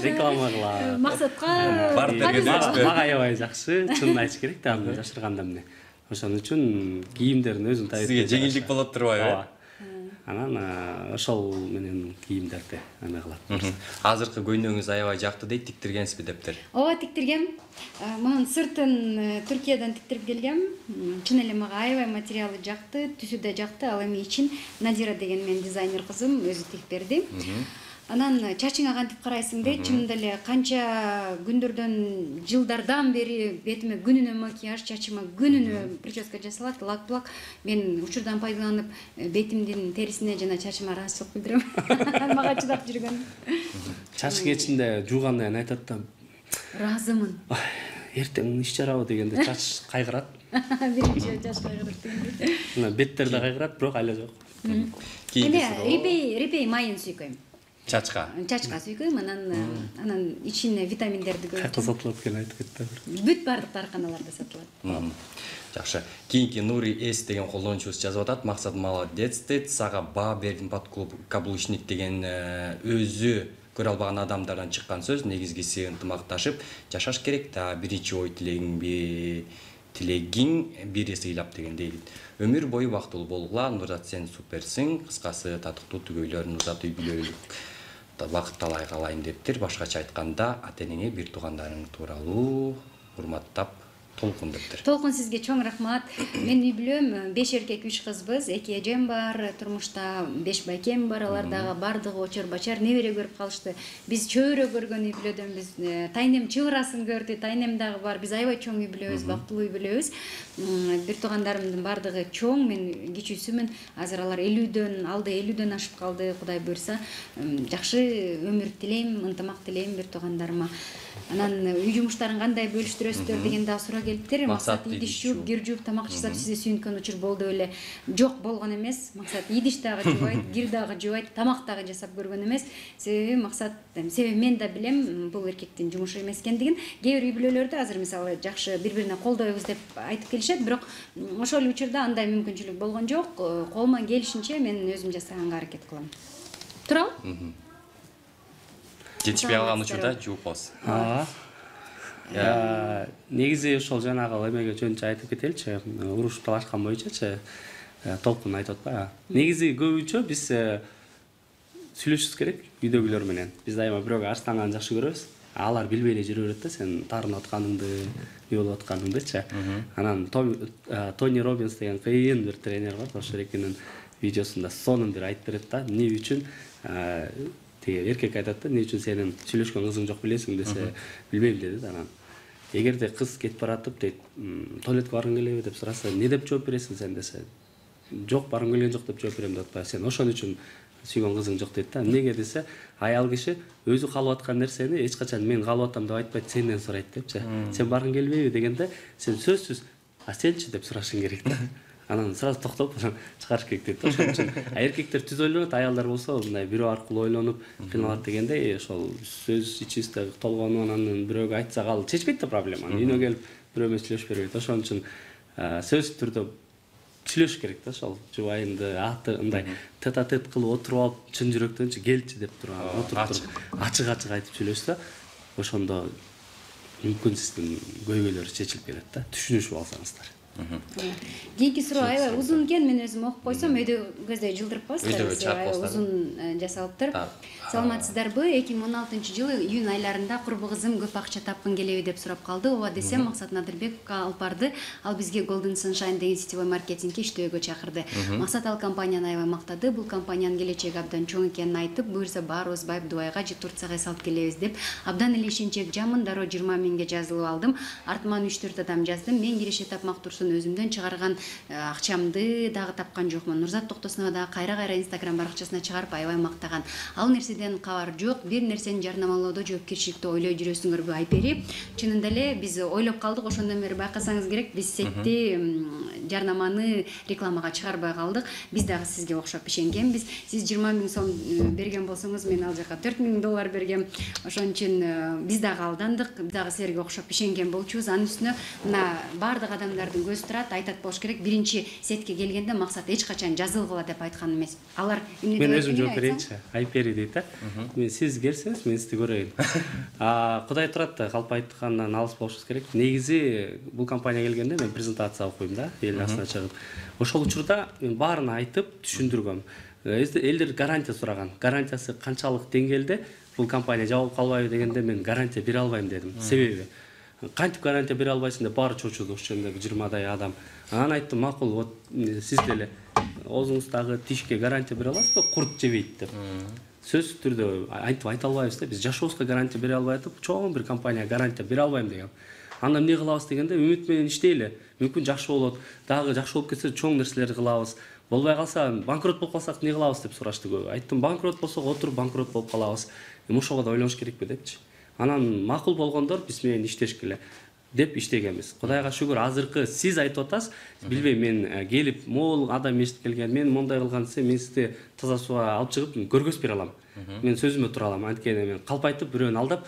реклама кылат. Максатка мага аябай жакшы, чынын айтыш керек да, аны жашырганда эмне. Ошон үчүн кийимдерин өзүн тайып. Сизге жеңилдик болот турбайбы? Анан ошол менен кийимдерди эме кылат. Азыркы көйнөгүңүз аябай жакты дейт, тиктиргенсизби дептир. Ооба, тиктиргем. Мунун сыртын Түркиядан тиктирип келгем. Чын эле мага аябай материалы жакты, түсү да жакты. Ал эми ичин Надира деген менин дизайнер кызым өзү тигип берди. Анан чачыңа кантип карайсың дейт. Чынында эле канча күндөрдөн, жылдардан бери бетиме күнүнө макияж, чачыма күнүнө прическа жасалат, лак-плак. Мен учурдан пайдаланып бетимдин терисине жана чачыма ыраазычылык билдирем. Мага чыдап жүргөн. Чач кечинде жуугандан кийин айтат да, ыраазымын. Эртең иш жарабы дегенде чач кайгырат. Биринчи чач кайгырат дегенде. Мына беттер да кайгырат, бирок айла жок. Эми репей, репей майын сүйкөйм. Чачка. Чачка сүйкөйм, анан анан ичине витаминдерди көп. Кайда сатылат экен айтып кетти. Бүт бардык дарканаларда сатылат. Жакшы. Кийинки Нури С деген колдонуучубуз жазып атат. Максат молодец дейт. Сага баа бердим под клуб каблучник деген өзү көрө албаган адамдардан чыккан сөз. Негизгиси ынтымакташып жашаш керек да, биринчи ой тилегиңби тилегиң бири сыйлап дегендей. Өмүр бою бактылуу болгула. Нурзат, сен суперсиң. Кыскасы татыктуу түгөйлөр Нурзат үй бүлөлүк бакыт талай калайын дептир. Башкача айтканда, ата-энеңе, бир туугандарың тууралуу урматтап толкун дептир. Толкун, сизге чоң рахмат. Мен үй бүлөм беш эркек, үч кызбыз. Эки эжем бар, турмушта беш байкем бар. Алар дагы бардыгы очор бачар небере көрүп калышты. Биз чөйрө көргөн үй бүлөдөнбүз. Тайнем чыбырасын көрдү, тайнем дагы бар. Биз аябай чоң үй бүлөбүз, бактылуу үй бүлөбүз. Бир туугандарымдын бардыгы чоң, мен кичүүсүмүн. Азыр алар элүүдөн, алды элүүдөн ашып калды. Кудай буйрса, жакшы өмүр тилейм, ынтымак тилейм бир туугандарыма. Анан үй жумуштарын кандай бөлүштүрөсүздөр деген да суроо келиптир. Максат идиш жууп, кир жууп, тамак жасап сизди сүйүнткөн учур болду эле. Жок, болгон эмес. Максат идиш дагы жуубайт, кир дагы жуубайт, тамак дагы жасап көргөн эмес. Себеби Максат, себеби мен да билем бул эркектин жумушу эмес экендигин. Кээ бир үй бүлөлөрдө азыр мисалы жакшы бири-бирине колдойбуз деп айтып келишет, бирок ошол учурда андай мүмкүнчүлүк болгон жок. Колуман келишинче мен өзүм жасаганга аракет кылам. Турабы? Жетишпей калган учурда жууп коебуз. Негизи ошол жанагы эмеге жөнүнчө айтып кетеличи. Уруш талашкан боюнчачы толкун айтып атпайбы? Негизи көбүнчө биз сүйлөшүбүз керек үйдөгүлөр менен. Биз дайыма бирөөгө арстанганды жакшы көрөбүз. Алар билбей эле жүрө берет да, сен таарынып атканыңды, эмне болуп атканыңдычы. Анан Тони Робинс деген кыйын бир тренер бар, ошол экинин видеосунда сонун бир айтып берет да, эмне үчүн эркек айтат да, эмне үчүн сенин сүйлөшкөн кызың жок билесиң десе, билбейм деди да. Анан эгерде кыз кетип баратып дейт, туалетке баргың келеби деп сураса, эмне деп жооп бересиң сен десе, жок, баргым келген жок деп жооп берем деп атпайбы, сен ошон үчүн сүйгөн кызың жок дейт да. Эмнеге десе, аял киши өзү каалап аткан нерсени эч качан мен каалап атам деп айтпайт, сенден сурайт депчи. Сен баргың келбейби дегенде, сен сөзсүз, а сенчи деп сурашың керек да. Анан сразу токтоп чыгарыш керек дейт. Ошон үчүн эркектер түз ойлонот, аялдар болсо мындай бирөө аркылуу ойлонуп кыйналат дегенде, ошол сөз ичибизде толгонуп анан бирөөгө айтсак ал чечпейт да проблеманы. Үйүнө келип бирөө менен сүйлөшүп бербейт. Ошон үчүн сөзсүз түрдө сүйлөшүш керек да, ошол жубайыңды аты мындай тет-а-тет кылып отуруп алып, чын жүрөктөнчү келчи деп туруп отуруп туруп ачык-ачык айтып сүйлөшсө, ошондо мүмкүн сиздин көйгөйлөрү чечилип келет да, түшүнүшүп алсаңыздар. Кийинки суроо аябай узун экен, мен өзүм окуп койсом, өйдө жылдырып коесуздар, узун жасалыптыр. Саламатсыздарбы? эки миң он алтынчы жылы июнь айларында курбу кызым көп акча тапкын келеби деп сурап калды. Ооба десем, Максат Надырбековго алып барды. Ал бизге Golden Sunshine деген сетевой маркетингке иштөөгө чакырды. Максат ал компанияны аябай мактады. Бул компаниянын келечеги абдан чоң экенин айтып, буюрса баарыбыз Байып Дубайга же Турцияга салып келебиз деп. Абдан эле ишенчек жамын, дароо жыйырма миңге жазылып алдым. Артыман үч төрт адам жаздым. Мен киреше тапмак турсун өзүмдөн чыгарган акчамды дагы тапкан жокмун. Нурзат Токтосунова дагы кайра-кайра Instagram баракчасына чыгарып аябай мактаган. Ал нерседен кабар жок. Бир нерсени жарнамалоодо жоопкерчиликти ойлой жүрөсүңөрбү Айпери? Чынында эле биз ойлоп калдык, ошондон бери байкасаңыз керек, биз сетти жарнаманы рекламага чыгарбай калдык. Биз дагы сизге окшоп ишенгенбиз. Сиз жыйырма миң сом берген болсоңуз, мен ал жака төрт миң доллар бергем. Ошон үчүн биз дагы алдандык, биз дагы силерге окшоп ишенген болчубуз. Анын үстүнө мына баардык адамдардын көзү турат, айтат болуш керек. Биринчи сетке келгенде Максат эч качан жазылгыла деп айткан эмес. Алар мен өзүм жооп берейинчи. Айпери дейт да. Мен сиз келсеңиз, мен сизди көрөйүн. А Кудай турат да, калп айткандан алыс болушубуз керек. Негизи бул компанияга келгенде мен презентация окуйм да, эл астына чыгып. Ошол учурда мен баарын айтып түшүндүргөм. Элдер гарантия сураган. Гарантиясы канчалык деңгээлде бул компания жабылып калбайбы дегенде мен гарантия бере албайм дедим. Себеби кантип гарантия бере албайсың деп баары чочуду, ошондой жыйырмадай адам. Анан айттым, макул, вот сиз деле оозуңуздагы тишке гарантия бере аласызбы, курт жебейт деп. Сөзсүз түрдө айтып айта албайбыз да, биз жашообузга гарантия бере албай атып, чоң бир компанияга гарантия бере албайм дегем. Анда эмне кылабыз дегенде, үмүт менен иштейли. Мүмкүн жакшы болот, дагы жакшы болуп кетсе чоң нерселерди кылабыз. Болбой калса, банкрот болуп калсак эмне кылабыз деп сурашты көбү. Айттым, банкрот болсок отуруп банкрот болуп калабыз. Эми ошого да ойлонуш керекпи депчи. Анан макул болгондор биз менен иштешкиле деп иштегенбиз. Кудайга шүгүр, азыркы сиз айтып атасыз, билбейм, мен келип могул адам эшитип келген, мен мондай кылган десе, мен сизди таза сууга алып чыгып көргөзүп бере алам. Мен сөзүмө тура алам. Анткени мен калп айтып бирөөнү алдап,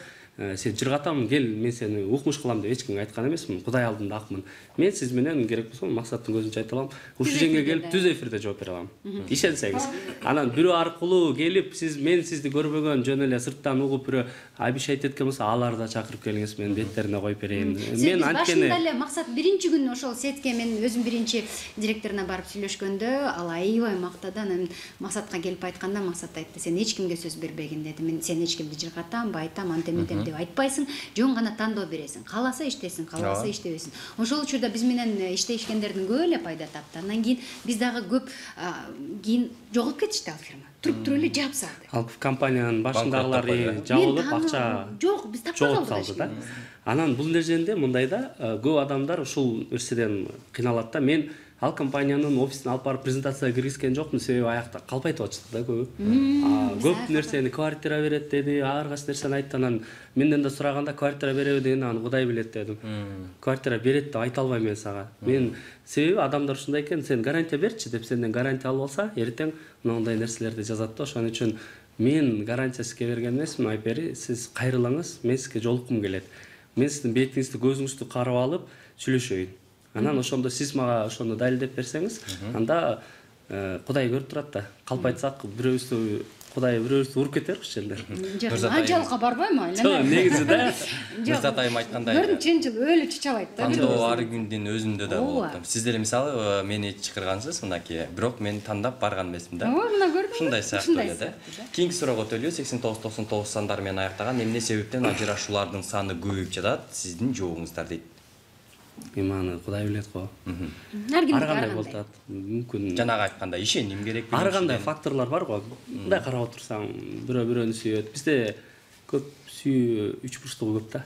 сен жыргатам, кел, мен сени укмуш кылам деп эч кимге айткан эмесмин. Кудай алдында акмын. Мен сиз менен керек болсо Максаттын көзүнчө айта алам. Ушул жерге келип түз эфирде жооп бере алам. Ишенсеңиз. Анан бирөө аркылуу келип, сиз мен сизди көрбөгөн, жөн эле сырттан угуп бирөө обещать эткен болсо, аларды да чакырып келиңиз, мен беттерине коюп берейин. Мен анткени башында эле Максат биринчи күнү ошол сетке мен өзүм биринчи директоруна барып сүйлөшкөндө, ал аябай мактады. Анан Максатка келип айтканда, Максат айтты, сен эч кимге сөз бербегин деди. Мен сен эч кимди жыргатам, байтам, антемедем деп айтпайсың, жөн гана тандоо бересиң. Кааласа иштесин, кааласа иштебесин. Ошол учурда биз менен иштешкендердин көбү эле пайда тапты. Андан кийин биз дагы көп кийин жоголуп кетишти ал фирма. Туруп туруп эле жаап салды. Ал компаниянын башындагылары жабылып, акча жок, биз тапкан калды да. Анан бул нерседе мындай да, көп адамдар ушул нерседен кыйналат да. Мен ал компаниянын офисине алып барып презентацияга киргизген жокмун, себеби аякта калп айтып атышты да көбү. Көп нерсени квартира берет деди, ар кайсы нерсени айтты. Анан менден да сураганда квартира береби дегенде, аны Кудай билет дедим. Квартира берет деп айта албайм мен сага. Мен себеби адамдар ушундай экен, сен гарантия берчи деп сенден гарантия алып алса, эртең мындай нерселерди жазат да. Ошон үчүн мен гарантия сизге берген эмесмин, Айпери, сиз кайрылыңыз, мен сизге жолуккум келет. Мен сиздин бетиңизди, көзүңүздү карап алып сүйлөшөйүн. Анан ошондо сиз мага ошону далилдеп берсеңиз, анда Кудай көрүп турат да. Калп айтсак, бирөөбүздү Кудай бирөөбүздү уруп кетер ушул жерде. Анчалыкка барбайм айлана. Жок, негизи да. Нурзат айым айткандай. Көрдүм, чынчыл өлү чычалайт да. Тандоо ар күндүн өзүндө да болот. Сиз деле мисалы мени чакыргансыз, мынакей, бирок мен тандап барган эмесмин да. Ооба, мына көрдүм. Ушундай сыяктуу эле да. Кийинки суроого өтөлү. сексен тогуз токсон тогуз сандар менен аяктаган эмне себептен ажырашуулардын саны көбөйүп жатат? Сиздин жообуңуздар дейт. Эми аны Кудай билет го. Ар кандай болуп атат? Мүмкүн жанагы айткандай ишеним керек. Ар кандай факторлор бар го. Мындай карап отурсаң, бирөө бирөөнү сүйөт. Бизде көп сүйүү үч бурчтугу көп да.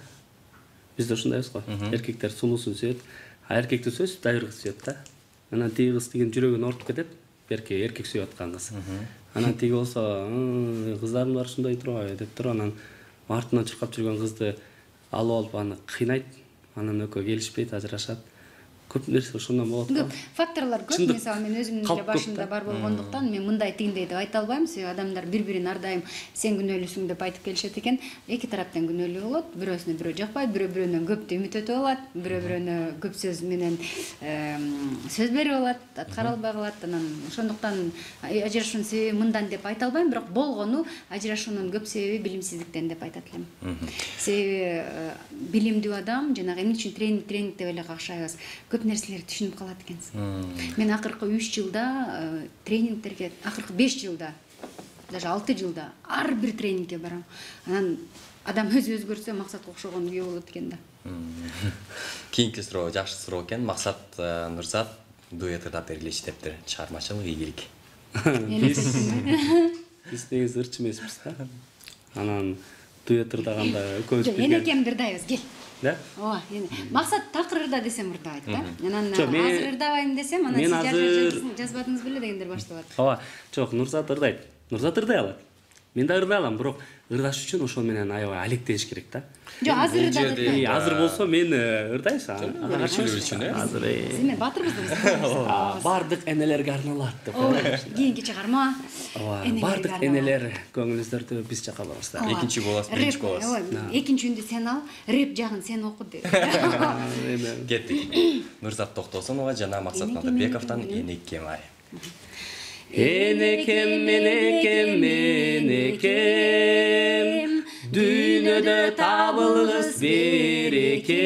Бизде ушундайбыз го. Эркектер сулуусун сүйөт, а эркекти сөз дайыр кыз сүйөт да. Анан тиги кыз деген жүрөгүн ортуп кетет. Берке эркек сүйүп аткан кыз. Анан тиги болсо, кыздарым бар ушундай турбайбы деп туруп анан артынан чуркап жүргөн кызды алып алып аны кыйнайт. Анан экөө келишпейт, ажырашат. Көп нерсе ошондон болот го. Факторлор көп, мисалы мен өзүмдүн эле башымда бар болгондуктан мен мындай тигиндей деп айта албайм. Себеби адамдар бири-бирин ар дайым сен күнөөлүүсүң деп айтып келишет экен. Эки тараптан күнөөлүү болот. Бирөөсүнө бирөө жакпайт, бирөө бирөөнөн көптү үмүт өтүп алат, бирөө бирөөнө көп сөз менен сөз берип алат, аткара албай калат. Анан ошондуктан ажырашуунун себеби мындан деп айта албайм, бирок болгону ажырашуунун көп себеби билимсиздиктен деп айтат элем. Себеби билимдүү адам жанагы эмне үчүн тренинг тренинг деп эле какшайбыз. Көп нерселерди түшүнүп калат экенсиз. Мен акыркы үч жылда тренингтерге, акыркы беш жылда, даже алты жылда ар бир тренингге барам. Анан адам өзү өзгөрсө максатка окшогон күйөө болот экен да. Кийинки суроо жакшы суроо экен. Максат Нурзат дуэт ырдап бергиле иштептир. Чыгармачылык ийгилик. Биз негизи ырчы эмеспиз да. Анан дуэт ырдаганда экөөбүз бирге. Эне экем ырдайбыз, кел. Да? Ооба, эне. Максат такыр ырда десем ырдайт да. Анан азыр ырдабайм десем, анан сиз жазбадыңыз беле дегендер башталат. Ооба, жок, Нурзат ырдайт. Нурзат ырдай алат. Мен да ырдай алам, бирок ырдаш үчүн ошол менен аябай алектеш керек да. Жок, азыр ырдайт. Азыр болсо мен ырдайсың. Ырчылуу үчүн, э? Азыр э. Сиз батырбыз да биз. Бардык энелерге арналат деп. Кийинки чыгарма. Ооба, бардык энелер көңүлүңүздөрдү биз жакка барабыз да. Экинчи боласыз, биринчи боласыз. Экинчи үндү сен ал, рэп жагын сен оку деп. Кеттик. Нурзат Токтосунова жана Максат Надырбековдон Энекем ай. Энекем, энекем, энекем, дүйнөдө табылгыс берекем.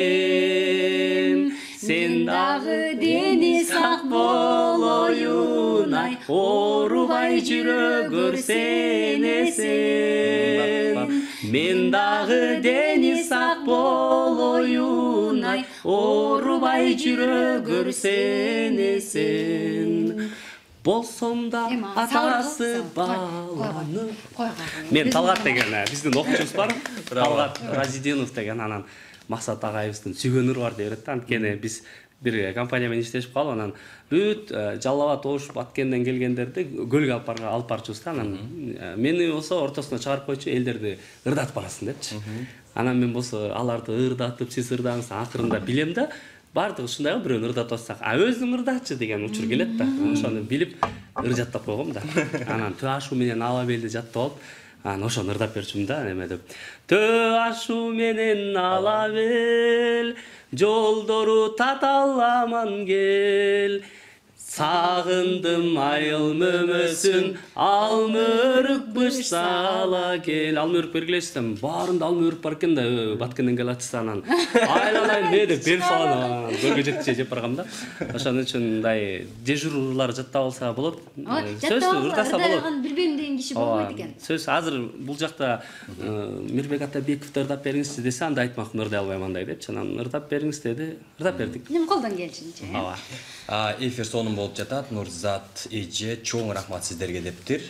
Сен дагы дени сак болоюн ай, оорубай жүрө көрсенесен. Мен дагы дени сак болоюн ай, оорубай жүрө көрсенесен. Болсом да атасы баланы. Мен Талгат деген биздин окуучубуз бар. Талгат Разидинов деген, анан Максат агайыбыздын сүйгөн ыры бар деп берет да. Анткени биз бир компания менен иштешип калып, анан бүт Жалал Абад, Ош, Баткенден келгендерди көлгө алып барга алып барчубуз да. Анан мени болсо ортосуна чыгарып койчу, элдерди ырдатып барасың депчи. Анан мен болсо аларды ырдатып, сиз ырдаңыз, акырында билем да. Бардык ушундай го, бирөөнү ырдатып атсак, а өзүң ырдачы деген учур келет да. Ошону билип ыр жаттап койгом да. Анан төө ашу менен ала белди жаттап алып, анан ошону ырдап берчүмүн да, неме деп. Төө ашу менен ала бел, жолдору таталаман кел. Сагындым айыл мөмөсүн, алмөрүк быш сала кел. Алмөрүк бергилесем, баарында алмөрүк бар экен да, Баткенден кел атсанан. Айланайын деп бел салам, көргө жеткиче жеп баргам да. Ошон үчүн мындай дежурлар жаттап алса болот. Сөз ырдаса болот. Билбейм деген киши болбойт экен. Сөз азыр бул жакта Мирбек Атабековду ырдап бериңизчи десе, анда айтмакмын, ырдай албайм андай депчи. Анан ырдап бериңиз деди, ырдап бердик. Эми колдон келишинче. Ооба. Эфир сонун болуп жатат. Нурзат эже чоң рахмат сиздерге дептир.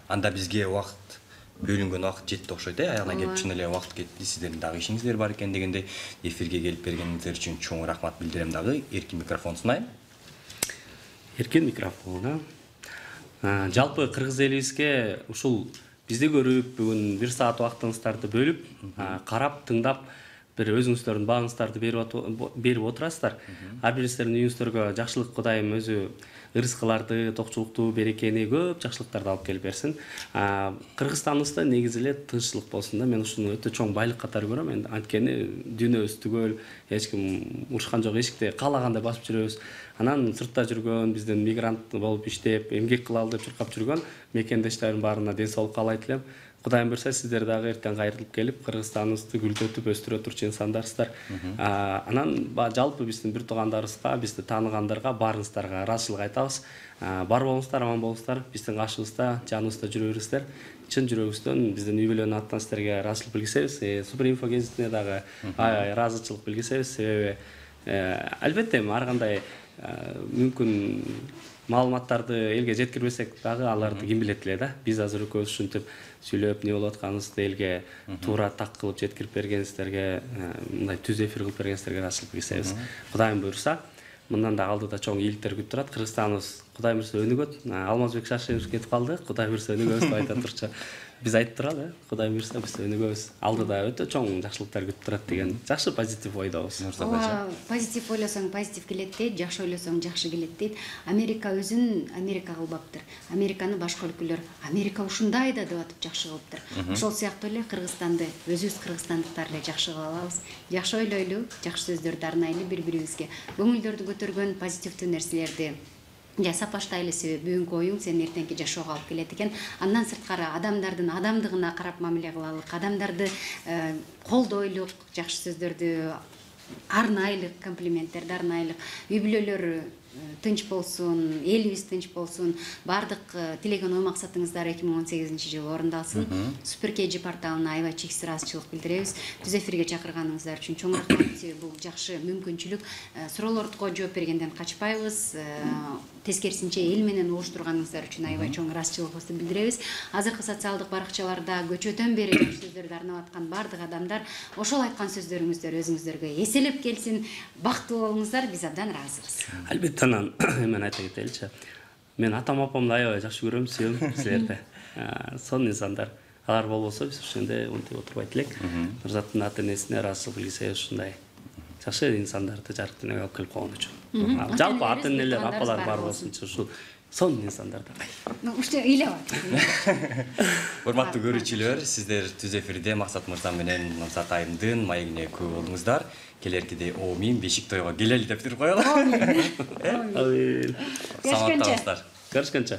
Анда бизге убакыт бөлүнгөн убакыт жетти окшойт, э? Аягына келип чын эле убакыт кетти. Сиздердин дагы ишиңиздер бар экен дегенде эфирге келип бергениңиздер үчүн чоң рахмат билдирем дагы. Эркин микрофон сунайм. Эркин микрофон. Жалпы кыргыз элибизге ушул бизди көрүп, бүгүн бир саат убактыңыздарды бөлүп, карап, тыңдап, бир өзүңүздөрдүн бааңыздарды берип отурасыздар. Ар бириңиздердин үйүңүздөргө жакшылык Кудайым өзү ырыскыларды, токчулукту, берекени, көп жакшылыктарды алып келип берсин. Кыргызстаныбызда негизи эле тынччылык болсун да. Мен ушуну өтө чоң байлык катары көрөм. Эми анткени дүйнөбүз түгөл, эч ким урушкан жок, эшикти каалагандай басып жүрөбүз. Анан сыртта жүргөн, биздин мигрант болуп иштеп, эмгек кылалы деп чуркап жүргөн мекендештердин баарына ден соолук каалайт элем. Кудайым буйрса, сиздер дагы эртең кайрылып келип, Кыргызстаныбызды гүлдөтүп өстүрө турчу инсандарсыздар. Анан жалпы биздин бир туугандарыбызга, бизди тааныгандарга, баарыңыздарга ыраазычылык айтабыз. Бар болуңуздар, аман болуңуздар. Биздин кашыбызда, жаныбызда жүрө бериңиздер. Чын жүрөгүбүздөн биздин үй бүлөнүн атынан сиздерге ыраазычылык билгисебиз. Суперинфо гезитине дагы ыраазычылык билгисебиз. Себеби албетте ар кандай мүмкүн маалыматтарды элге жеткирбесек дагы аларды ким билет эле да. Биз азыр экөөбүз ушинтип сүйлөп не болуп атканыбызды элге туура так кылып жеткирип бергенсиздерге, мындай түз эфир кылып бергенсиздерге ырайчылык билгисебиз. Кудайым буйрса, мындан да алдыда чоң ийгиликтер күтүп турат. Кыргызстаныбыз Кудай буйрса өнүгөт. Алмазбек Шашевич кетип калды. Кудай буйрса өнүгөбүз деп айта турчу. Биз айтып туралы, Кудай буйрса биз өнүгөбүз. Алдыда өтө чоң жакшылыктар күтүп турат деген жакшы позитив ойдобуз. Ооба, позитив ойлосоң позитив келет дейт, жакшы ойлосоң жакшы келет дейт. Америка өзүн Америка кылбаптыр. Американы башка өлкөлөр Америка ушундай да деп атып жакшы кылыптыр. Ошол сыяктуу эле Кыргызстанды өзүбүз кыргызстандыктар эле жакшы кыла алабыз. Жакшы ойлойлу, жакшы сөздөрдү арнайлы бири-бирибизге. Көңүлдөрдү көтөргөн позитивдүү нерселерди жасап баштайлы, себеби бүгүнкү оюң сени эртеңки жашоого алып келет экен. Андан сырткары адамдардын адамдыгына карап мамиле кылалык, адамдарды колдойлук, жакшы сөздөрдү арнайлык, комплименттерди арнайлык. Үй бүлөлөр тынч болсун, элибиз тынч болсун, баардык тилеген ой максатыңыздар эки миң он сегизинчи жылы орундалсын. Супер Кеджи порталына аябай чексиз ыраазычылык билдиребиз. Түз эфирге чакырганыңыздар үчүн чоң рахмат. Бул жакшы мүмкүнчүлүк. Суроолорго жооп бергенден качпайбыз. Тескерисинче эл менен угуштурганыңыздар үчүн аябай чоң ыраазычылыгыбызды билдиребиз. Азыркы социалдык баракчаларда көчөдөн бери жакшы сөздөрдү арнап аткан баардык адамдар ошол айткан сөздөрүңүздөр өзүңүздөргө эселеп келсин. Бактылуу болуңуздар, биз абдан ыраазыбыз. Албетте анан мен айта кетеличи. Мен атам апамды аябай жакшы көрөм, сүйөм силерди. Сонун инсандар. Алар болбосо биз ошондой унутуп отурбайт элек. Нурзаттын ата энесине ыраазычылык билгисебиз ушундай жакшы инсандарды жарык дүйнөгө алып келип койгон үчүн. Жалпы ата энелер, апалар бар болсунчу ушул сонун инсандарда. Уште ыйлап атат. Урматтуу көрүүчүлөр, сиздер Түз эфирде Максат мырза менен Нурзат айымдын маегине күбө болдуңуздар. Келеркиде Оомин Бешик тойго келели деп туруп коелу. Амин. Саламаттаңыздар. Көрүшкөнчө.